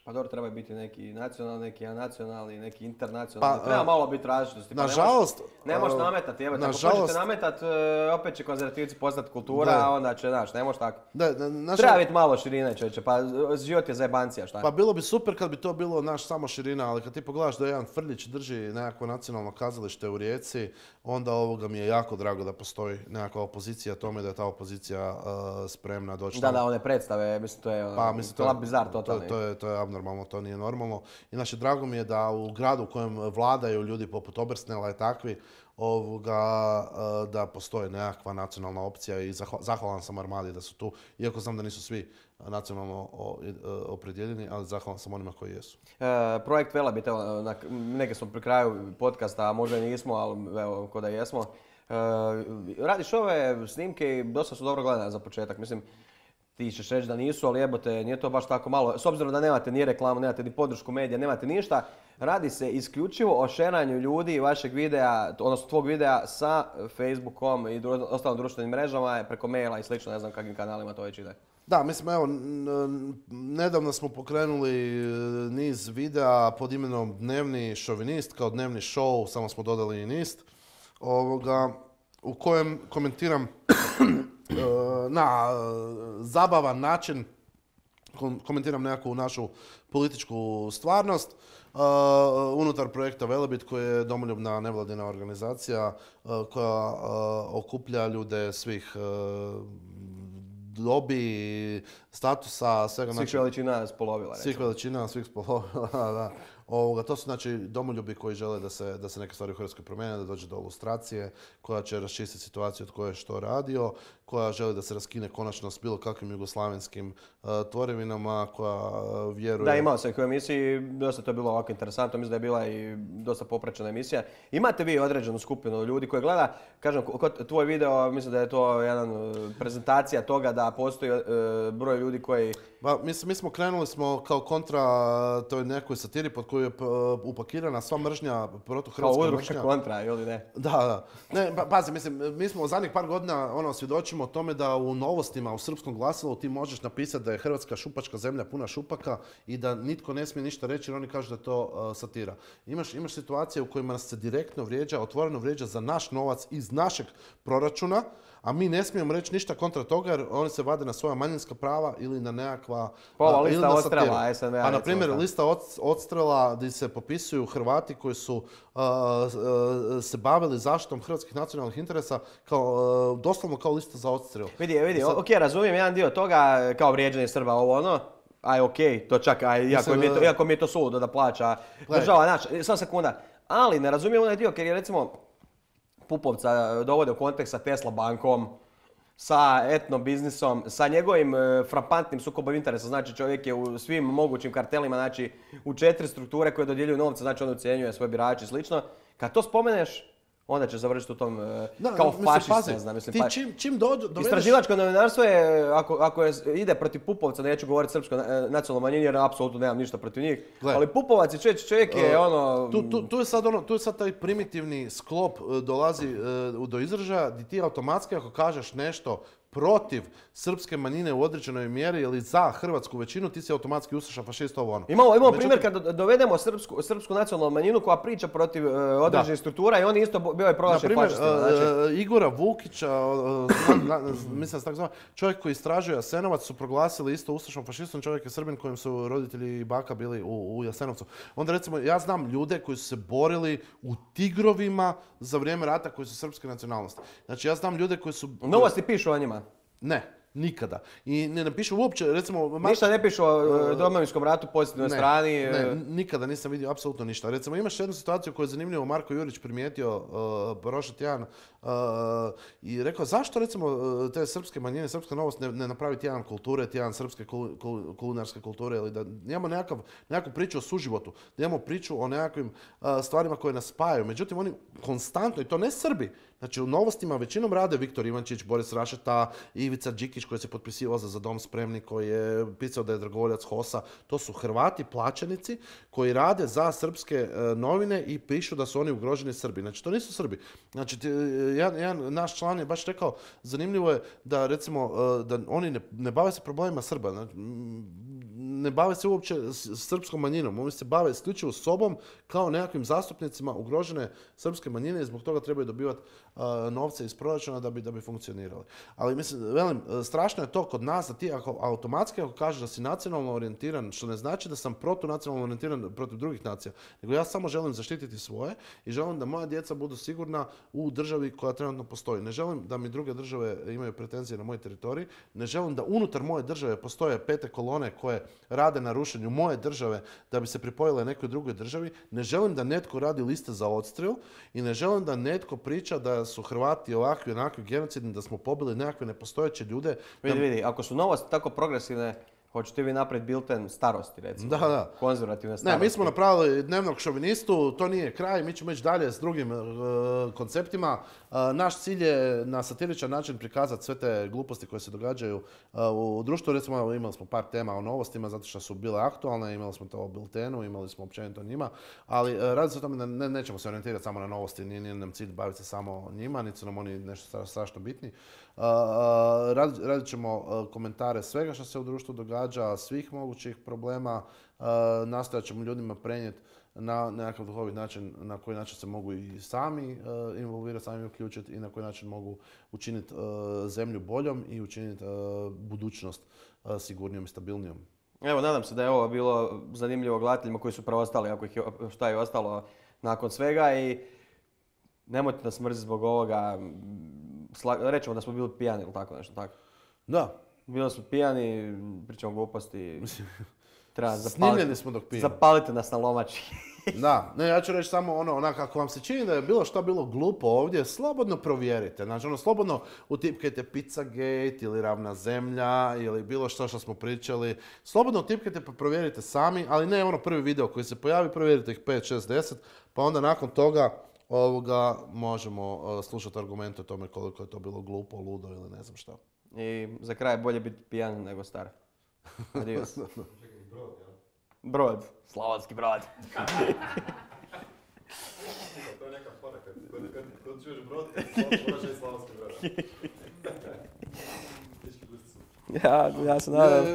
S1: Pa dobro, treba biti neki nacionalni, neki anacionalni, neki internacionalni. Pa, treba
S2: a,
S1: malo biti različitosti. Pa
S2: nažalost...
S1: Ne možeš nametati, evo, ako hoćete nametati, opet će konzervativci postati kultura, da. A onda će, znaš, ne možeš tako. Da, da, naša... Treba biti malo širine, čovječe, pa život je zajebancija, šta?
S2: Pa bilo bi super kad bi to bilo, naš, samo širina, ali kad ti pogledaš da jedan Frljić drži nekakvo nacionalno kazalište u Rijeci, onda ovoga mi je jako drago da postoji nekakva opozicija tome, da je ta opozicija uh, spremna doći.
S1: Da, da, one predstave, mislim, to je
S2: pa, mislim, to,
S1: bizar totalni.
S2: To, to je, to je normalno, to nije normalno. Inače, drago mi je da u gradu u kojem vladaju ljudi poput Obersnela i takvi, ovoga, da postoji nekakva nacionalna opcija i zahvalan sam Armadi da su tu, iako znam da nisu svi nacionalno opredjeljeni, ali zahvalan sam onima koji jesu.
S1: E, projekt Velebit, evo, neke smo pri kraju podcasta, a možda i nismo, ali evo, ko da jesmo. E, radiš ove snimke i dosta su dobro gledane za početak, mislim. Ti ćeš reći da nisu, ali jebote, nije to baš tako malo. S obzirom da nemate ni reklamu, nemate ni podršku medija, nemate ništa, radi se isključivo o šeranju ljudi vašeg videa, odnosno tvog videa sa Facebookom i dru- ostalim društvenim mrežama, preko maila i slično, ne znam kakvim kanalima to već ide.
S2: Da, mislim, evo, nedavno smo pokrenuli niz videa pod imenom Dnevni šovinist, kao dnevni show, samo smo dodali i nist, ovoga, u kojem komentiram na zabavan način, komentiram nekakvu našu političku stvarnost uh, unutar projekta Velebit koji je domoljubna nevladina organizacija uh, koja uh, okuplja ljude svih uh, dobi, statusa, svega.
S1: Svih veličina spolovila.
S2: Svih veličina, svih spolovila, da. Ovoga, to su znači domoljubi koji žele da se, da se neke stvari u Hrvatskoj promijene, da dođe do lustracije, koja će raščistiti situaciju od koje je što radio, koja želi da se raskine konačno s bilo kakvim jugoslavenskim uh, tvorevinama, koja uh, vjeruje...
S1: Da, imao sam ih u emisiji, dosta to je bilo ovako interesantno, mislim da je bila i dosta popraćena emisija. Imate vi određenu skupinu ljudi koji gleda, kažem, kod tvoj video, mislim da je to jedan prezentacija toga da postoji uh, broj ljudi koji...
S2: Ba, mi, mi smo krenuli smo kao kontra toj nekoj satiri pod koju je upakirana sva mržnja, protuhrvatska
S1: mržnja.
S2: mržnja.
S1: Kao udruga kontra, ili ne?
S2: Da, da. Ne, pa, pazi, mislim, mi smo u zadnjih par godina ono, svjedočimo o tome da u novostima, u srpskom glasilu ti možeš napisati da je Hrvatska šupačka zemlja puna šupaka i da nitko ne smije ništa reći jer oni kažu da je to uh, satira. Imaš, imaš situacije u kojima nas se direktno vrijeđa, otvoreno vrijeđa za naš novac iz našeg proračuna, a mi ne smijemo reći ništa kontra toga jer oni se vade na svoja manjinska prava ili na nekakva...
S1: Ova lista odstrela S N V-a.
S2: A na primjer lista odstrela gdje se popisuju Hrvati koji su uh, uh, se bavili zaštitom hrvatskih nacionalnih interesa kao, uh, doslovno kao lista za odstrel.
S1: Vidi, vidi, sad... ok, razumijem jedan dio toga kao vrijeđanje Srba, ovo ono. Aj, ok, to čak, aj, iako, mi je to, iako mi je to suludo da plaća država, znači, samo sekunda. Ali ne razumijem onaj dio, jer je recimo Pupovca dovode u kontekst sa Tesla bankom, sa etno biznisom, sa njegovim e, frapantnim sukobom interesa. Znači čovjek je u svim mogućim kartelima, znači u četiri strukture koje dodjeljuju novce, znači on ucijenjuje svoje birače i slično. Kad to spomeneš, onda će završiti u tom e,
S2: da,
S1: kao fašist,
S2: ne znam. Mislim, ti pa, čim, čim dođu, dovedeš...
S1: Istraživačko novinarstvo je, ako, ako je, ide protiv Pupovca, neću govoriti srpsko nacionalno manjini jer apsolutno nemam ništa protiv njih, Gle. ali Pupovac i čovjek, čovjek je uh, ono...
S2: Tu, tu, tu, je sad ono... Tu je sad taj primitivni sklop uh, dolazi uh, do izražaja gdje ti automatski ako kažeš nešto protiv srpske manjine u određenoj mjeri ili za hrvatsku većinu, ti si automatski ustaša fašist ovo ono.
S1: Imamo, imamo Međutim... primjer kad dovedemo srpsku, srpsku nacionalnu manjinu koja priča protiv uh, određenih struktura i on isto bio je proglašen fašistima.
S2: Znači... Uh, Igora Vukića, uh, mislim tako zove, čovjek koji istražuje Jasenovac su proglasili isto ustašom fašistom, čovjek je Srbin kojem su roditelji i baka bili u, u Jasenovcu. Onda recimo, ja znam ljude koji su se borili u Tigrovima za vrijeme rata koji su srpske nacionalnosti. Znači ja znam ljude koji su...
S1: Novosti pišu o njima.
S2: Ne, nikada. I ne napišu uopće, recimo...
S1: Ništa ne pišu o Domovinskom ratu, pozitivnoj strani?
S2: Ne, nikada nisam vidio apsolutno ništa. Recimo imaš jednu situaciju koju je zanimljivo Marko Jurić primijetio uh, prošli tjedan uh, i rekao zašto recimo te srpske manjine, srpska novost ne, ne napravi tjedan kulture, tjedan srpske kul, kul, kulinarske kulture ili da imamo nekakav, nekakvu priču o suživotu, da imamo priču o nekakvim uh, stvarima koje nas spajaju. Međutim, oni konstantno, i to ne Srbi, znači u novostima većinom rade Viktor Ivančić, Boris Rašeta, Ivica Đikić koji se potpisivao za Za dom spremni, koji je pisao da je dragovoljac HOS-a. To su Hrvati plaćenici koji rade za srpske e, novine i pišu da su oni ugroženi Srbi. Znači to nisu Srbi. Znači t, jedan, jedan naš član je baš rekao, zanimljivo je da recimo e, da oni ne, ne bave se problemima Srba. Znači, ne bave se uopće srpskom manjinom. Oni se bave isključivo sobom kao nekakvim zastupnicima ugrožene srpske manjine i zbog toga trebaju dobivati uh, novce iz proračuna da bi, da bi funkcionirali. Ali mislim, velim, strašno je to kod nas da ti ako, automatski ako kažeš da si nacionalno orijentiran, što ne znači da sam protunacionalno orijentiran protiv drugih nacija, nego ja samo želim zaštititi svoje i želim da moja djeca budu sigurna u državi koja trenutno postoji. Ne želim da mi druge države imaju pretenzije na moj teritorij, ne želim da unutar moje države postoje pete kolone koje rade na rušenju moje države da bi se pripojile nekoj drugoj državi. Ne želim da netko radi liste za odstrel i ne želim da netko priča da su Hrvati ovakvi, onakvi genocidni, da smo pobili nekakve nepostojeće ljude.
S1: Vidi, vidi, ako su novosti tako progresivne, hoćete vi napraviti bilten starosti, recimo,
S2: da, da.
S1: konzervativne starosti.
S2: Ne, mi smo napravili dnevnog šovinistu, to nije kraj, mi ćemo ići dalje s drugim uh, konceptima. Uh, naš cilj je na satiričan način prikazati sve te gluposti koje se događaju uh, u društvu. Recimo, imali smo par tema o novostima zato što su bile aktualne, imali smo to o biltenu, imali smo općenito o njima, ali uh, radi se o tome da ne, nećemo se orijentirati samo na novosti, nije, nije nam cilj baviti se samo njima, niti su nam oni nešto strašno bitni. Uh, radit, radit ćemo uh, komentare svega što se u društvu događa, svih mogućih problema, uh, nastojat ćemo ljudima prenijeti na nekakav duhovit način, na koji način se mogu i sami uh, involvirati, sami uključiti i na koji način mogu učiniti uh, zemlju boljom i učiniti uh, budućnost uh, sigurnijom i stabilnijom.
S1: Evo, nadam se da je ovo bilo zanimljivo gledateljima koji su preostali, ako ih je, šta je ostalo nakon svega i nemojte nas mrziti zbog ovoga. Rećemo da smo bili pijani ili tako nešto, tako?
S2: Da.
S1: Bili smo pijani, pričamo gluposti. Treba zapaliti.
S2: Snimljeni smo dok pijemo.
S1: Zapalite nas na lomači.
S2: Da, ne, ja ću reći samo ono, onak, ako vam se čini da je bilo što bilo glupo ovdje, slobodno provjerite. Znači, ono, slobodno utipkajte Pizzagate ili Ravna zemlja ili bilo što što smo pričali. Slobodno utipkajte pa provjerite sami, ali ne ono prvi video koji se pojavi, provjerite ih pet, šest, deset, pa onda nakon toga ovoga možemo uh, slušati argumente o tome koliko je to bilo glupo, ludo ili ne znam što.
S1: I za kraj bolje biti pijan nego star. Adios. Brod, slavonski brod.
S3: To je neka fora, kad čuješ brod, moraš i slavonski brod.
S1: Ja, ja se nadam.